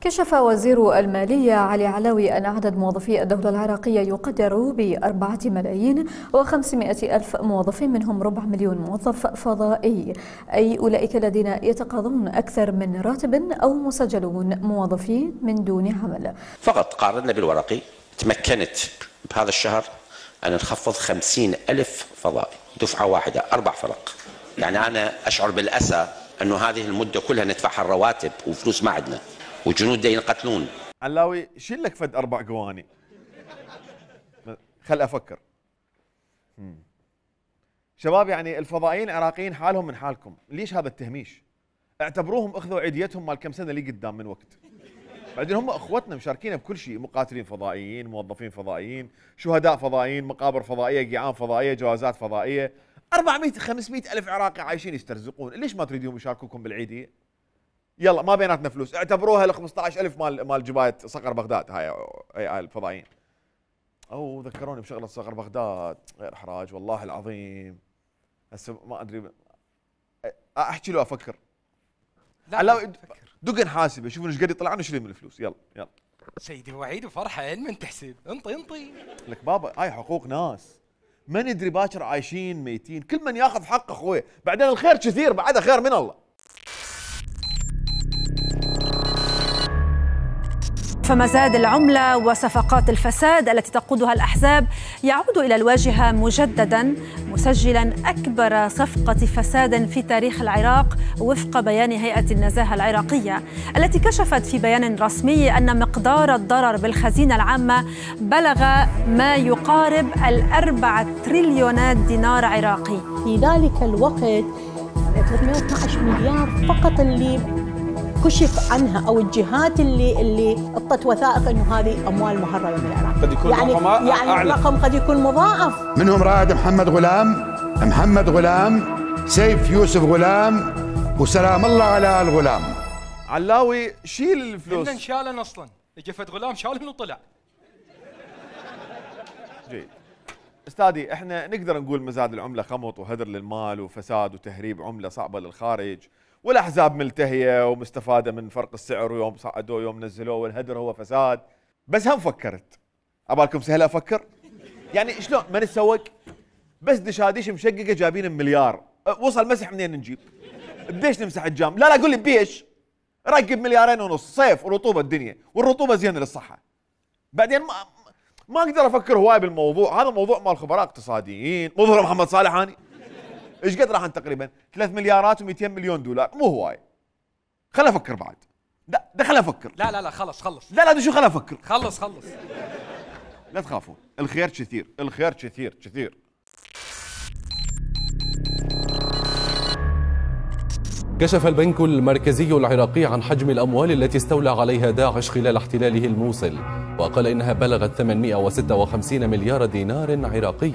كشف وزير المالية علي علاوي أن عدد موظفي الدولة العراقية يقدر بأربعة ملايين وخمسمائة ألف موظف، منهم ربع مليون موظف فضائي، أي أولئك الذين يتقاضون أكثر من راتب أو مسجلون موظفين من دون عمل. فقط قارنا بالورقي تمكنت بهذا الشهر أن نخفض خمسين ألف فضائي، دفعة واحدة أربع فرق. يعني أنا أشعر بالأسى أنه هذه المدة كلها ندفعها الرواتب وفلوس ما عندنا وجنود دا ينقتلون. علاوي شيل لك فد اربع قواني. خل افكر. مم. شباب يعني الفضائيين العراقيين حالهم من حالكم، ليش هذا التهميش؟ اعتبروهم اخذوا عيديتهم مال كم سنه اللي قدام من وقت. بعدين هم اخوتنا مشاركين بكل شيء، مقاتلين فضائيين، موظفين فضائيين، شهداء فضائيين، مقابر فضائيه، قيعان فضائيه، جوازات فضائيه. أربعمئة خمسمئة الف عراقي عايشين يسترزقون، ليش ما تريدون يشاركوكم بالعيديه؟ يلا ما بيناتنا فلوس، اعتبروها ال خمسة عشر ألف مال مال جبايه صقر بغداد هاي هاي الفضائيين. او ذكروني بشغله صقر بغداد، غير احراج والله العظيم. هسه ما ادري احكي له افكر. لا دق نحاسبه، شوفوا ايش قد يطلعون نشيل من الفلوس. يلا يلا سيدي وعيد وفرحه من تحسب، انطي انطي لك بابا، هاي حقوق ناس ما ندري باكر عايشين ميتين، كل من ياخذ حقه اخوي، بعدين الخير كثير بعدها خير من الله. فمزاد العملة وصفقات الفساد التي تقودها الأحزاب يعود إلى الواجهة مجددا، مسجلا أكبر صفقة فساد في تاريخ العراق وفق بيان هيئة النزاهة العراقية التي كشفت في بيان رسمي أن مقدار الضرر بالخزينة العامة بلغ ما يقارب الأربعة تريليونات دينار عراقي. في ذلك الوقت ثلاثمئة واثني عشر مليار فقط اللي كشف عنها او الجهات اللي اللي اعطت وثائق انه هذه اموال مهربه من العراق. قد يكون يعني رقم يعني أعلى. الرقم قد يكون مضاعف. منهم رائد محمد غلام، محمد غلام، سيف يوسف غلام، وسلام الله على الغلام. علاوي شيل الفلوس. إن شالن اصلا، جفت غلام شالن وطلع. جيد. استاذي احنا نقدر نقول مزاد العمله خمط وهدر للمال وفساد وتهريب عمله صعبه للخارج، والاحزاب ملتهيه ومستفاده من فرق السعر، ويوم صعدوه يوم نزلوه، والهدر هو فساد. بس هم فكرت، ابالكم سهله افكر؟ يعني شلون ما نتسوق؟ بس دشاديش مشققه جايبين مليار، وصل مسح منين نجيب؟ بيش نمسح الجام؟ لا لا قول لي بيش. ركب مليارين ونص، صيف ورطوبه الدنيا، والرطوبه زينه للصحه. بعدين ما ما اقدر افكر هواي بالموضوع، هذا موضوع مال خبراء اقتصاديين، مو ظهر محمد صالح اني. ايش قد راح تقريبا؟ ثلاث مليارات ومئتين مليون دولار، مو هواي. خل افكر بعد. لا ده خل افكر. لا لا لا خلص خلص. لا لا ده شو خل افكر. خلص خلص. لا تخافون، الخير كثير، الخير كثير كثير. كشف البنك المركزي العراقي عن حجم الأموال التي استولى عليها داعش خلال احتلاله الموصل، وقال إنها بلغت ثمانمئة وستة وخمسين مليار دينار عراقي.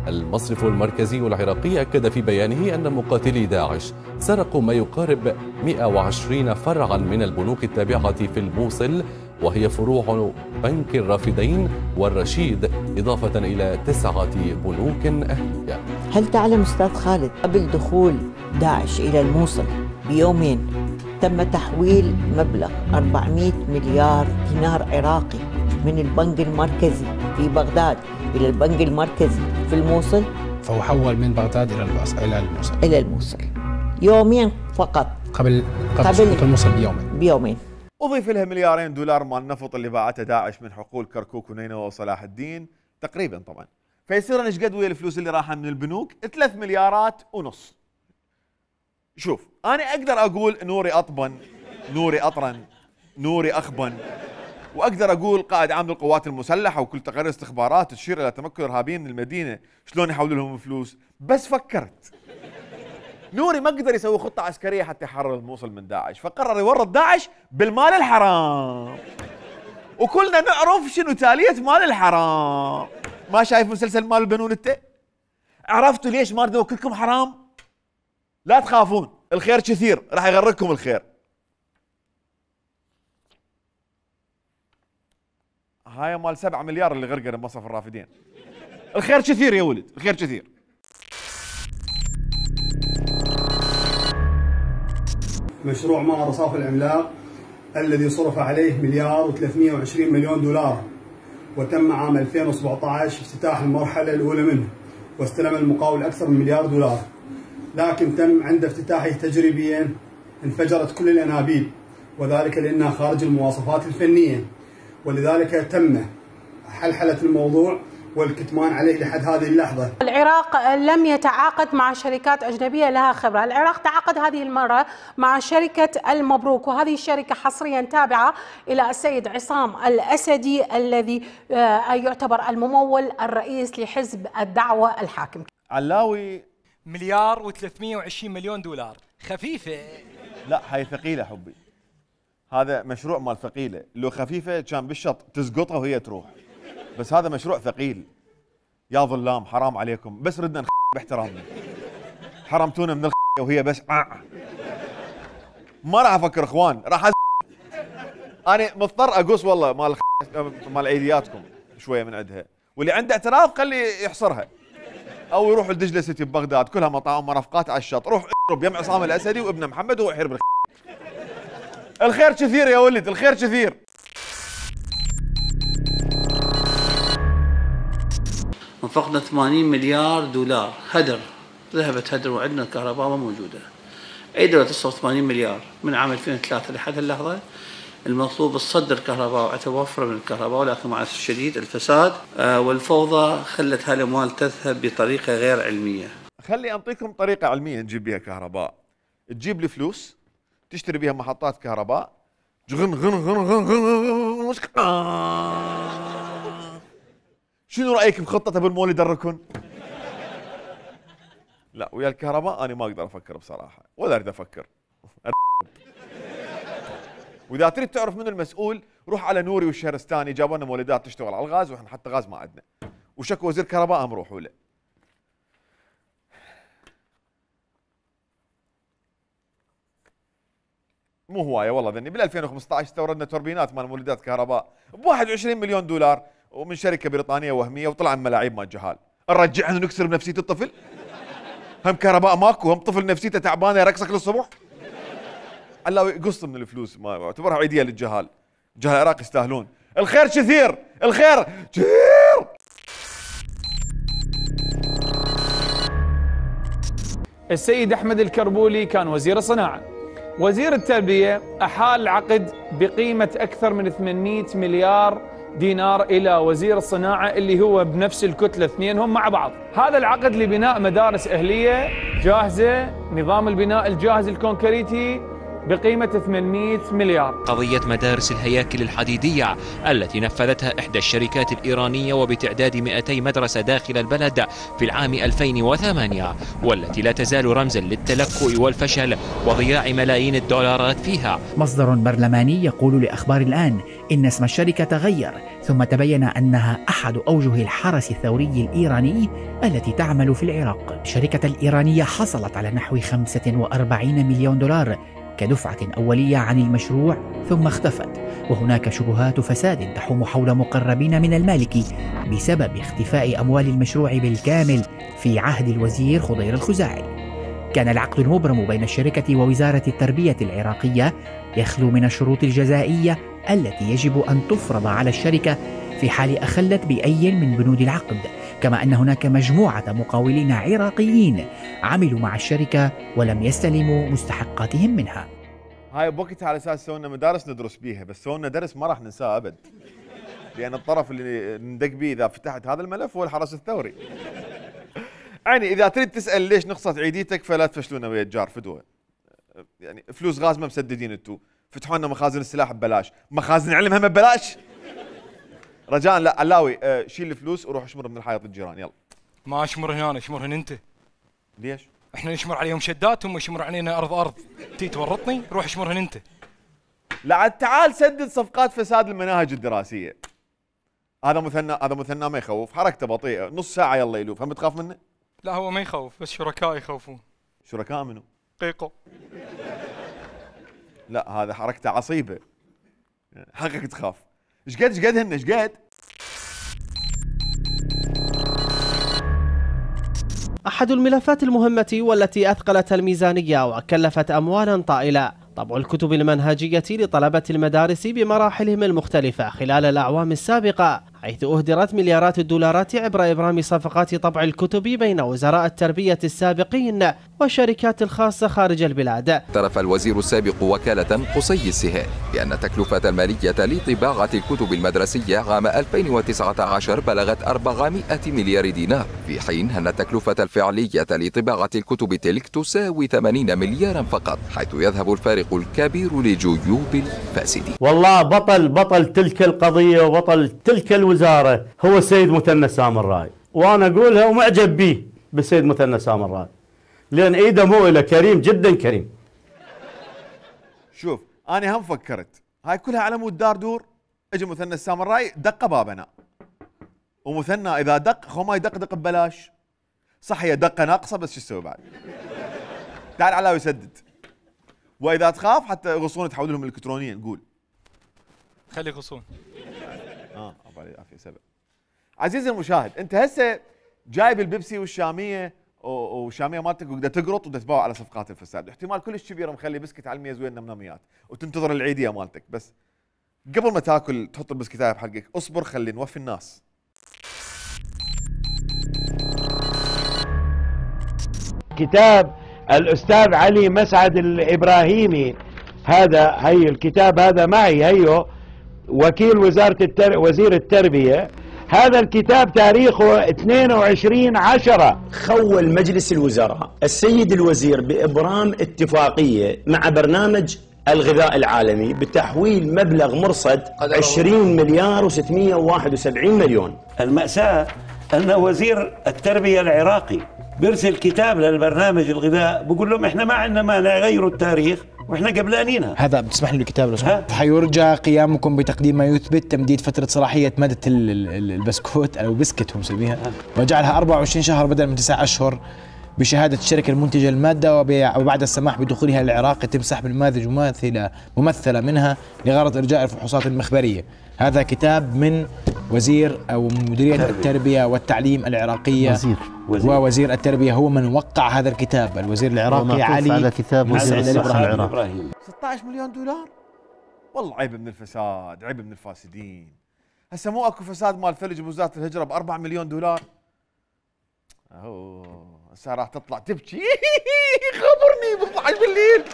المصرف المركزي العراقي أكد في بيانه أن مقاتلي داعش سرقوا ما يقارب مئة وعشرين فرعا من البنوك التابعة في الموصل، وهي فروع بنك الرافدين والرشيد، إضافة إلى تسعة بنوك أهلية. هل تعلم أستاذ خالد قبل دخول داعش إلى الموصل بيومين تم تحويل مبلغ أربعمئة مليار دينار عراقي من البنك المركزي في بغداد إلى البنك المركزي في الموصل؟ فهو حول من بغداد إلى إلى الموصل. إلى الموصل يومين فقط قبل قبل سقوط الموصل بيومين. بيومين. أضيف لها مليارين دولار مال النفط اللي باعته داعش من حقول كركوك ونينوى وصلاح الدين تقريبا طبعا، فيصير ايش قد ويا الفلوس اللي راحه من البنوك؟ ثلاث مليارات ونص. شوف انا اقدر اقول نوري اطبن، نوري اطرن، نوري اخبن، واقدر اقول قائد عام للقوات المسلحه وكل تقارير استخبارات تشير الى تمكن الارهابيين من المدينه، شلون يحولوا لهم فلوس؟ بس فكرت نوري ما قدر يسوي خطه عسكريه حتى يحرر الموصل من داعش، فقرر يورط داعش بالمال الحرام. وكلنا نعرف شنو تاليه مال الحرام. ما شايف مسلسل مال البنون انت؟ عرفتوا ليش ما اريد اوكلكم حرام؟ لا تخافون، الخير كثير، راح يغرقكم الخير. هاي مال سبعة مليار اللي غرقنا بمصرف الرافدين. الخير كثير يا ولد، الخير كثير. مشروع معرض صافي العملاق الذي صرف عليه مليار وثلاثمئة وعشرين مليون دولار، وتم عام ألفين وسبعطعش افتتاح المرحلة الأولى منه، واستلم المقاول أكثر من مليار دولار، لكن تم عند افتتاحه تجريبيا انفجرت كل الأنابيب، وذلك لأنها خارج المواصفات الفنية، ولذلك تم حلحلة الموضوع والكتمان عليه لحد هذه اللحظة. العراق لم يتعاقد مع شركات أجنبية لها خبرة، العراق تعاقد هذه المرة مع شركة المبروك، وهذه الشركة حصريا تابعة إلى السيد عصام الأسدي الذي يعتبر الممول الرئيس لحزب الدعوة الحاكم. علاوي مليار وثلاثمئة وعشرين مليون دولار، خفيفة. لا هاي ثقيلة حبي. هذا مشروع مال ثقيلة، لو خفيفة كان بالشط تسقطها وهي تروح. بس هذا مشروع ثقيل. يا ظلام حرام عليكم، بس ردنا نخ باحترامنا. حرمتونا من الخ وهي بس آه. ما راح افكر اخوان، راح أز... انا مضطر اقص والله مال الخ... مال عيدياتكم شويه من عندها، واللي عنده اعتراض خلي يحصرها. او يروح لدجله سيتي ببغداد كلها مطاعم مرافقات على الشط، روح اضرب يم عصام الاسدي وابن محمد وهو يحير بالخ. الخير كثير يا ولد، الخير كثير. انفقنا ثمانين مليار دولار هدر، ذهبت هدر وعندنا الكهرباء ما موجوده. اي دوله تصرف ثمانين مليار من عام ألفين وثلاثة لحد اللحظه، المطلوب تصدر الكهرباء وتوفر من الكهرباء، ولكن مع الاسف الشديد الفساد والفوضى خلت هالاموال تذهب بطريقه غير علميه. خلي انطيكم طريقه علميه نجيب بها كهرباء، تجيب لي فلوس تشتري بها محطات كهرباء، غن غن غن غن غن شنو رايك بخطه ابو المولد الركن؟ لا ويا الكهرباء انا ما اقدر افكر بصراحه، ولا اريد افكر. واذا تريد تعرف منو المسؤول روح على نوري والشهرستاني، جابوا لنا مولدات تشتغل على الغاز واحنا حتى غاز ما عندنا، وشكوا وزير كهرباء هم روحوا له. مو هوايه والله ذني، بال ألفين وخمسطعش استوردنا توربينات مال مولدات كهرباء ب واحد وعشرين مليون دولار ومن شركه بريطانيه وهميه، وطلع من ملاعيب مال جهال. نرجعها ونكسر بنفسيه الطفل؟ هم كهرباء ماكو، هم طفل نفسيته تعبانه يرقصك للصبح؟ علاوي قص من الفلوس، ما اعتبرها عيديه للجهال. الجهال العراق يستاهلون. الخير كثير، الخير كثير. السيد أحمد الكربولي كان وزير الصناعة. وزير التربية أحال عقد بقيمة أكثر من ثمانمئة مليار دينار إلى وزير الصناعة اللي هو بنفس الكتلة، اثنينهم مع بعض. هذا العقد لبناء مدارس أهلية جاهزة، نظام البناء الجاهز الكونكريتي بقيمة ثمانمئة مليار. قضية مدارس الهياكل الحديدية التي نفذتها إحدى الشركات الإيرانية وبتعداد مئتي مدرسة داخل البلد في العام ألفين وثمانية، والتي لا تزال رمزا للتلكؤ والفشل وضياع ملايين الدولارات فيها. مصدر برلماني يقول لأخبار الآن إن اسم الشركة تغير، ثم تبين أنها أحد أوجه الحرس الثوري الإيراني التي تعمل في العراق. الشركة الإيرانية حصلت على نحو خمسة وأربعين مليون دولار كدفعة أولية عن المشروع ثم اختفت، وهناك شبهات فساد تحوم حول مقربين من المالك بسبب اختفاء أموال المشروع بالكامل في عهد الوزير خضير الخزاعي. كان العقد المبرم بين الشركة ووزارة التربية العراقية يخلو من الشروط الجزائية التي يجب أن تفرض على الشركة في حال أخلت بأي من بنود العقد، كما أن هناك مجموعة مقاولين عراقيين عملوا مع الشركة ولم يستلموا مستحقاتهم منها. هاي بوقتها على اساس سوينا مدارس ندرس بيها، بس سوينا درس ما راح ننساه ابد، لان الطرف اللي ندق بيه اذا فتحت هذا الملف هو الحرس الثوري. يعني اذا تريد تسال ليش نقصت عيديتك فلا تفشلونا ويا الجار فدوه. يعني فلوس غاز ما مسددين انتو، فتحوا لنا مخازن السلاح ببلاش، مخازن العلم هم ببلاش. رجاء لا علاوي آه شيل الفلوس وروح اشمر من الحائط الجيران يلا. ما اشمر هنا، اشمرهن انت. ليش؟ احنا نشمر عليهم شدات، هم يشمروا علينا ارض ارض. تي تورطني؟ روح اشمرهن انت. لا عاد تعال سدد صفقات فساد المناهج الدراسيه. هذا مثنى، هذا مثنى ما يخوف، حركته بطيئه، نص ساعه يلا يلوف، هم تخاف منه؟ لا هو ما يخوف، بس شركاء يخوفون. شركاء منو؟ قيقو. لا هذا حركته عصيبه. حقك تخاف. ايش قد ايش قد هن ايش قد؟ أحد الملفات المهمة والتي أثقلت الميزانية وكلفت أموالا طائلة طبع الكتب المنهجية لطلبة المدارس بمراحلهم المختلفة خلال الأعوام السابقة، حيث أهدرت مليارات الدولارات عبر إبرام صفقات طبع الكتب بين وزراء التربية السابقين والشركات الخاصة خارج البلاد. اعترف الوزير السابق وكالة قصي السهيل بأن تكلفة المالية لطباعة الكتب المدرسية عام ألفين وتسعة عشر بلغت أربعمائة مليار دينار، في حين أن التكلفة الفعلية لطباعة الكتب تلك تساوي ثمانين مليارا فقط، حيث يذهب الفارق الكبير لجيوب الفاسدين. والله بطل بطل تلك القضية وبطل تلك الوزارة هو السيد مثنى سامراء، وأنا أقولها ومعجب به بالسيد مثنى سامراء لأن إيده مؤلة، كريم جدا كريم. شوف أنا هم فكرت هاي كلها على مود دار دور، اجى مثنى السامراء دق بابنا، ومثنى إذا دق خو ما يدق دق ببلاش. صح هي دقة ناقصة بس شو تسوي بعد؟ تعال علاوي يسدد. واذا تخاف حتى يغصون تحول لهم الكترونيا نقول. خلي يغصون. اه الله يعافيه سبب. عزيزي المشاهد انت هسه جايب البيبسي والشاميه والشاميه مالتك وقدر تقرط وقدر تباوع على صفقات الفساد، احتمال كلش كبير مخلي بسكت على الميز وين نمنميات وتنتظر العيديه مالتك، بس قبل ما تاكل تحط البسكتايه بحقك اصبر خلي نوفي الناس. كتاب الأستاذ علي مسعد الإبراهيمي، هذا هي الكتاب هذا معي هيو وكيل وزارة التر... وزير التربية. هذا الكتاب تاريخه اثنين وعشرين عشرة. خول مجلس الوزراء السيد الوزير بإبرام اتفاقية مع برنامج الغذاء العالمي بتحويل مبلغ مرصد عشرين مليار وستمئة وواحد وسبعين مليون. المأساة أن وزير التربية العراقي بيرسل كتاب للبرنامج الغذاء بقول لهم احنا ما عندنا مانع غيروا التاريخ واحنا قبلانينها. هذا بتسمح لي الكتاب لو سمحت؟ حيرجى قيامكم بتقديم ما يثبت تمديد فترة صلاحية مادة البسكوت او بسكت هم مسميها وجعلها أربعة وعشرين شهر بدل من تسعة اشهر بشهادة الشركة المنتجة المادة، وبعد السماح بدخولها العراق يتم سحب المادة مماثلة ممثلة منها لغرض إرجاء الفحوصات المخبرية. هذا كتاب من وزير أو مديرية التربية والتعليم العراقية. وزير. وزير. ووزير التربية هو من وقع هذا الكتاب، الوزير العراقي علي على كتاب وزير الصحة العراقي. ستة عشر مليون دولار والله عيب من الفساد، عيب من الفاسدين. هسه مو اكو فساد مال فلج بوزارة الهجرة ب أربعة مليون دولار. اوه هسه راح تطلع تبكي خبرني ب اثني عشر بالليل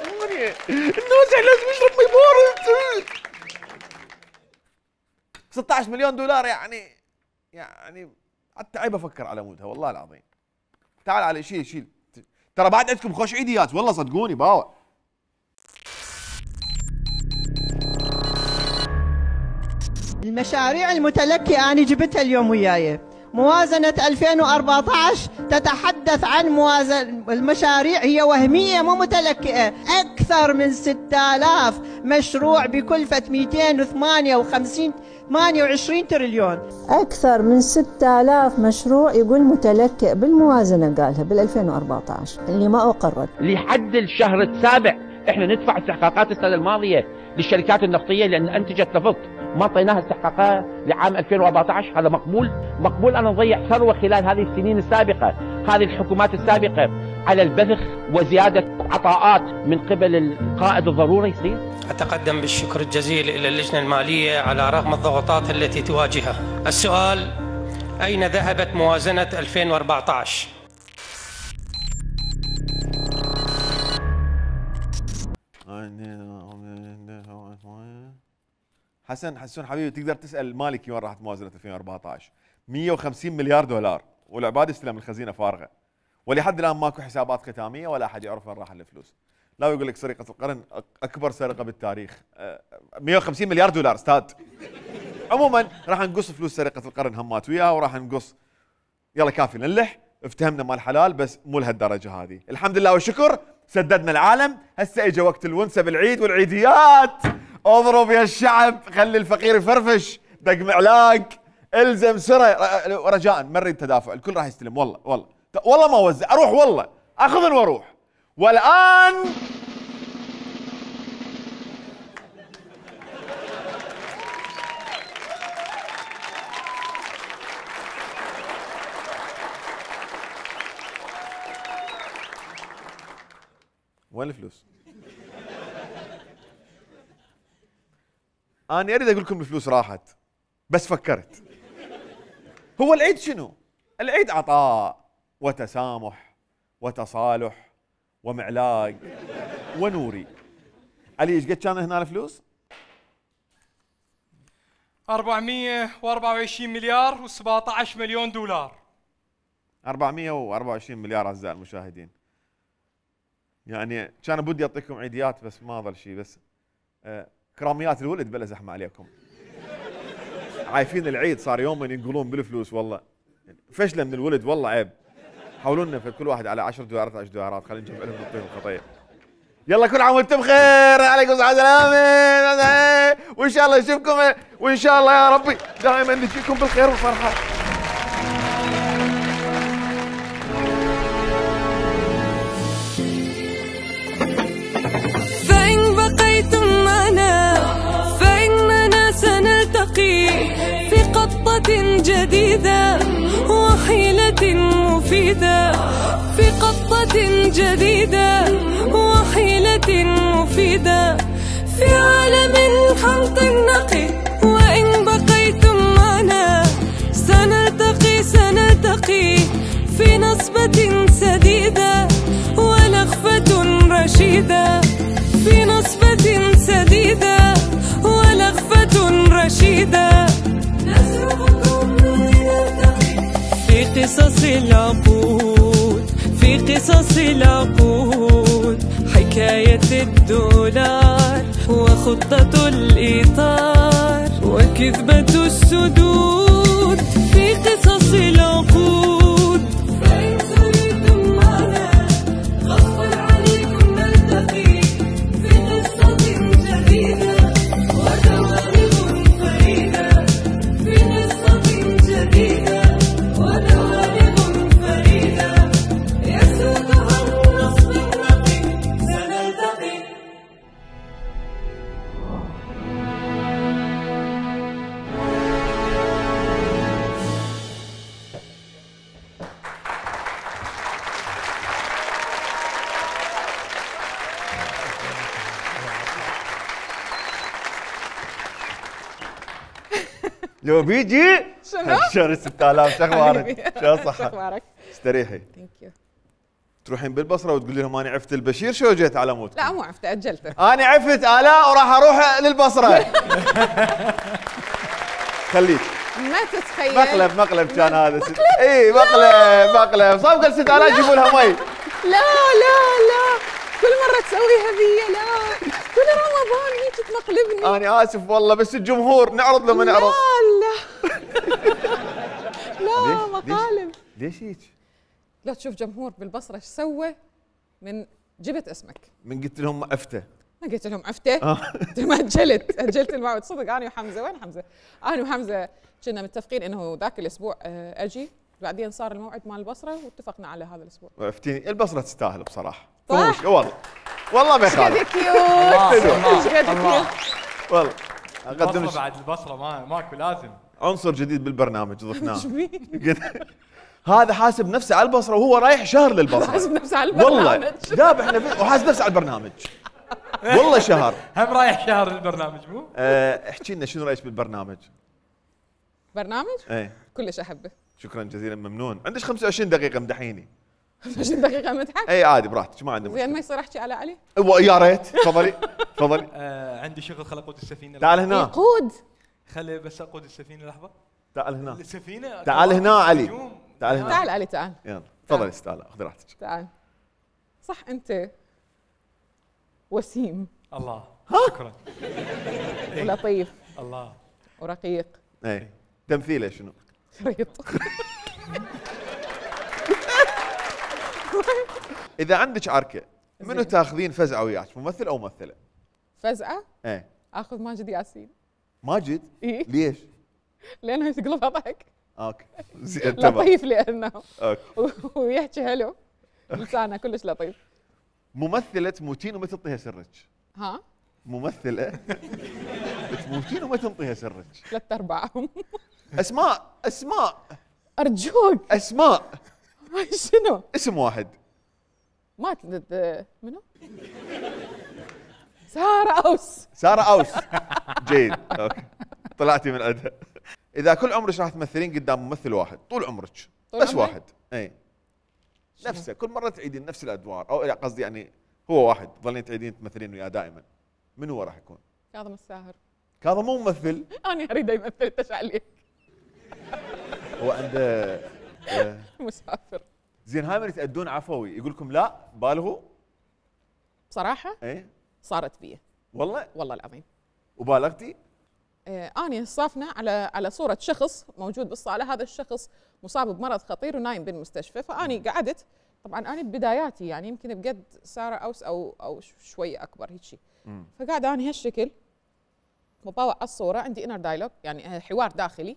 الناس لازم يشرب مي بارد. ستة عشر مليون دولار يعني يعني حتى عيب افكر على مودها والله العظيم. تعال على شيل شيل ترى بعد عندكم خوش عيديات والله صدقوني باوع. المشاريع المتلكئة أنا جبتها اليوم وياي. موازنة ألفين وأربعة عشر تتحدث عن موازنة المشاريع هي وهمية مو متلكئة، أكثر من ستة آلاف مشروع بكلفة مئتين وثمانية وخمسين ثمانية وعشرين تريليون. أكثر من ستة آلاف مشروع يقول متلكئ بالموازنة قالها بال ألفين وأربعة عشر اللي ما أقرت. لحد الشهر السابع احنا ندفع استحقاقات السنة الماضية للشركات النفطية لأن أنتجت نفط، ما اعطيناها استحقاقها لعام ألفين وأربعة عشر. هذا مقبول؟ مقبول أنا نضيع ثروة خلال هذه السنين السابقة، هذه الحكومات السابقة على البذخ وزيادة عطاءات من قبل القائد الضروري يصير؟ أتقدم بالشكر الجزيل إلى اللجنة المالية على رغم الضغوطات التي تواجهها. السؤال: أين ذهبت موازنة ألفين وأربعة عشر؟ حسن حسون حبيبي تقدر تسال مالكي وين راحت موازنه ألفين وأربعة عشر؟ مئة وخمسين مليار دولار والعباد يستلم الخزينه فارغه ولحد الان ماكو حسابات ختاميه ولا احد يعرف وين راح الفلوس. لا يقول لك سرقه القرن اكبر سرقه بالتاريخ. مئة وخمسين مليار دولار استاذ. عموما راح نقص فلوس سرقه القرن همات وياها وراح نقص. يلا كافي نلح، افتهمنا مال حلال بس مو لهالدرجه هذه. الحمد لله والشكر سددنا العالم. هسه اجى وقت الونسه بالعيد والعيديات. اضرب يا الشعب، خلي الفقير يفرفش، دق معلاق، الزم سره. رجاء ما نريد تدافع، الكل راح يستلم. والله والله والله ما اوزع، اروح والله اخذن واروح. والان وين الفلوس؟ أنا أريد أقول لكم الفلوس راحت، بس فكرت. هو العيد شنو؟ العيد عطاء وتسامح وتصالح ومعلاق ونوري. علي ايش قد كان هنا الفلوس؟ أربعمئة وأربعة وعشرين مليار وسبعة عشر مليون دولار. أربعمئة وأربعة وعشرين مليار أعزائي المشاهدين. يعني كان بدي اعطيكم عيديات بس ما ظل شيء. بس آه كراميات الولد بلا زحمه عليكم. عايفين العيد صار يومين ينقلون بالفلوس والله. فشله من الولد والله عيب. حاولوا لنا كل واحد على عشر دولارات عشر دولارات خلينا نجمع لهم نعطيهم خطيه. يلا كل عام وانتم بخير، عليكم الصحه والسلامه، وان شاء الله نشوفكم وان شاء الله يا ربي دائما نجيكم بالخير والفرحه. فإن بقيتم معنا فإننا سنلتقي في قطة جديدة وحيلة مفيدة، في قطة جديدة وحيلة مفيدة، في عالم خلط نقي. وإن بقيتم معنا سنلتقي سنلتقي في نصبة سديدة ولخفة رشيدة، في نصبة سديدة ولخفة رشيدة. نسرقكم لنلتقي في قصص العقود، في قصص العقود، حكاية الدولار وخطة الإطار وكذبة السدود، في قصص العقود. فإن سرتم معنا غصبا عليكم نلتقي في قصة جديدة ودوائر فريدة، في قصة جديدة ودوائر فريدة يسودها النصب النقي سنلتقي. لو بيجي شنو؟ شهر ستة آلاف. شو اخبارك؟ شو شو صحة؟ اخبارك؟ استريحي. ثانك يو. تروحين بالبصره وتقولي لهم انا عفت البشير شو جيت على موتكم؟ لا مو عفته اجلته. انا عفت الاء وراح اروح للبصره. خليك. ما تتخيل. مقلب مقلب كان هذا. اي مقلب مقلب صفقه ست آلاف جيبوا لها مي. لا لا لا كل مرة تسويها ذي. لا كل رمضان هيك تمقلبني. انا اسف والله بس الجمهور نعرض لما نعرض. لا لا لا مقالب. ليش هيك؟ لا تشوف جمهور بالبصرة ايش سوى من جبت اسمك. من قلت لهم عفته. ما قلت لهم عفته؟ قلت لهم اجلت اجلت الموعد. صدق انا وحمزه. وين حمزه؟ انا وحمزه كنا متفقين انه ذاك الاسبوع اجي، بعدين صار الموعد مال البصره واتفقنا على هذا الاسبوع. عفتيني البصره تستاهل بصراحه. صح؟ والله والله ما يخالف. ايش قد كيوت ايش قد كيوت. والله اقدم البصره بعد البصره ما ماكو لازم عنصر جديد بالبرنامج ضفناه. هذا حاسب نفسه على البصره وهو رايح شهر للبصره. حاسب نفسه على البرنامج والله ذابح نفسه وحاسب نفسه على البرنامج. والله شهر. هم رايح شهر للبرنامج مو؟ أه احكي لنا شنو رايك بالبرنامج؟ برنامج؟ ايه كلش احبه. شكرا جزيلا ممنون. عندك خمسة وعشرين دقيقة مدحيني. خمسة وعشرين دقيقة مدحك؟ اي عادي براحتك ما عندنا مشكلة. زين ما يصير احكي على علي؟ يا ريت تفضلي تفضلي. آه عندي شغل خل اقود السفينة. تعال هنا. يقود. خلي بس اقود السفينة لحظة. تعال هنا. السفينة. تعال هنا علي. تعال هنا. تعال علي تعال. يلا تفضلي استاذ خذي راحتك. تعال. صح انت وسيم. الله شكرا. ولطيف. الله. ورقيق. اي تمثيله شنو؟ شريط. اذا عندك عركه منو تاخذين فزعه وياك، ممثل او ممثله؟ فزعه؟ ايه اخذ ماجد ياسين. ماجد؟ إيه؟ ليش؟ لانه تقلبها ضحك. اوكي زين تمام. لطيف لانه اوكي ويحكي حلو، لسانه كلش لطيف. ممثله تموتين وما تنطيها سرك. ها؟ ممثله تموتين وما تنطيها سرك. ثلاث ارباعهم. اسماء اسماء ارجوك. اسماء. شنو؟ اسم واحد. ما تد... منو؟ سارة أوس. سارة أوس. جيد اوكي طلعتي من عندها. إذا كل عمرك راح تمثلين قدام ممثل واحد طول عمرك بس عمري؟ واحد اي نفسه كل مرة تعيدين نفس الأدوار أو قصدي يعني هو واحد تظلين تعيدين تمثلين وياه دائما، من هو راح يكون؟ كاظم الساهر. كاظم مو ممثل. أنا أريد يمثل ايش عليك؟ هو عنده آه مسافر. زين هاي من يتأدون عفوي يقول لكم لا بالغوا؟ بصراحة؟ ايه صارت بي. والله؟ والله العظيم. وبالغتي؟ آه أنا صافنا على على صورة شخص موجود بالصالة، هذا الشخص مصاب بمرض خطير ونايم بالمستشفى، فأني قعدت طبعا أنا ببداياتي يعني يمكن بقد سارة أوس أو أو شوية أكبر هيك شيء. فقاعدة أنا هالشكل وباوع على الصورة، عندي انر دايلوج يعني حوار داخلي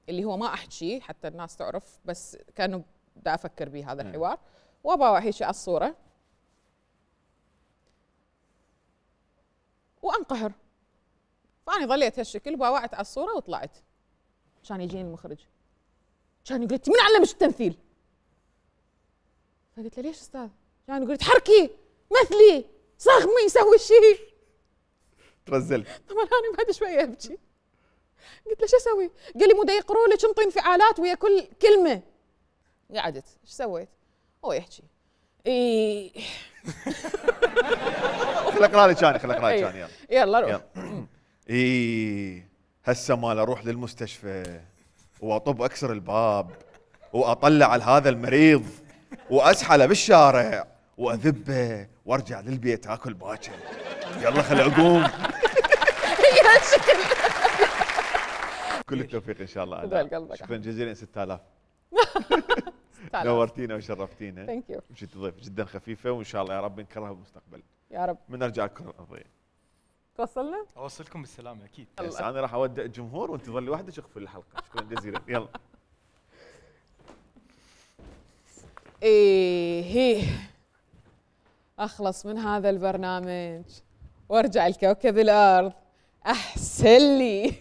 اللي هو ما أحكي حتى الناس تعرف، بس كانوا بدي أفكر به هذا الحوار، وباوع هيك على الصورة وانقهر. فأنا ظليت هالشكل باوعت على الصورة وطلعت. كان يجيني المخرج كان يقول لي من علمش التمثيل؟ فقلت له ليش استاذ؟ كان يقول لي تحركي مثلي صغمي سوي شيء. ترزلت. طبعا انا بعد شويه ابكي. قلت له شو اسوي؟ قال لي مو دا يقروا لك انطي انفعالات ويا كل كلمه. قعدت ايش سويت؟ هو يحكي اي خل اقرا لك ثاني خل اقرا لك ثاني يلا يلا روح. اي هسه مال اروح للمستشفى واطب اكسر الباب واطلع على هذا المريض واسحله بالشارع واذبه وارجع للبيت اكل باكر. يلا خل اقوم. هي هالشكل. كل التوفيق ان شاء الله. خذ قلبك. شكرا جزيلا. ستة آلاف نورتينا وشرفتينا. ثانك يو. مشيت ضيف جدا خفيفه وان شاء الله يا رب نكررها بالمستقبل. يا رب. من نرجع الكره الارضيه. توصلنا؟ اوصلكم بالسلامه اكيد. بس انا راح اودع الجمهور وانت ظلي وحدك اخفي الحلقه. شكرا جزيلا. يلا. ايه هي اخلص من هذا البرنامج وارجع لكوكب الارض احسن لي.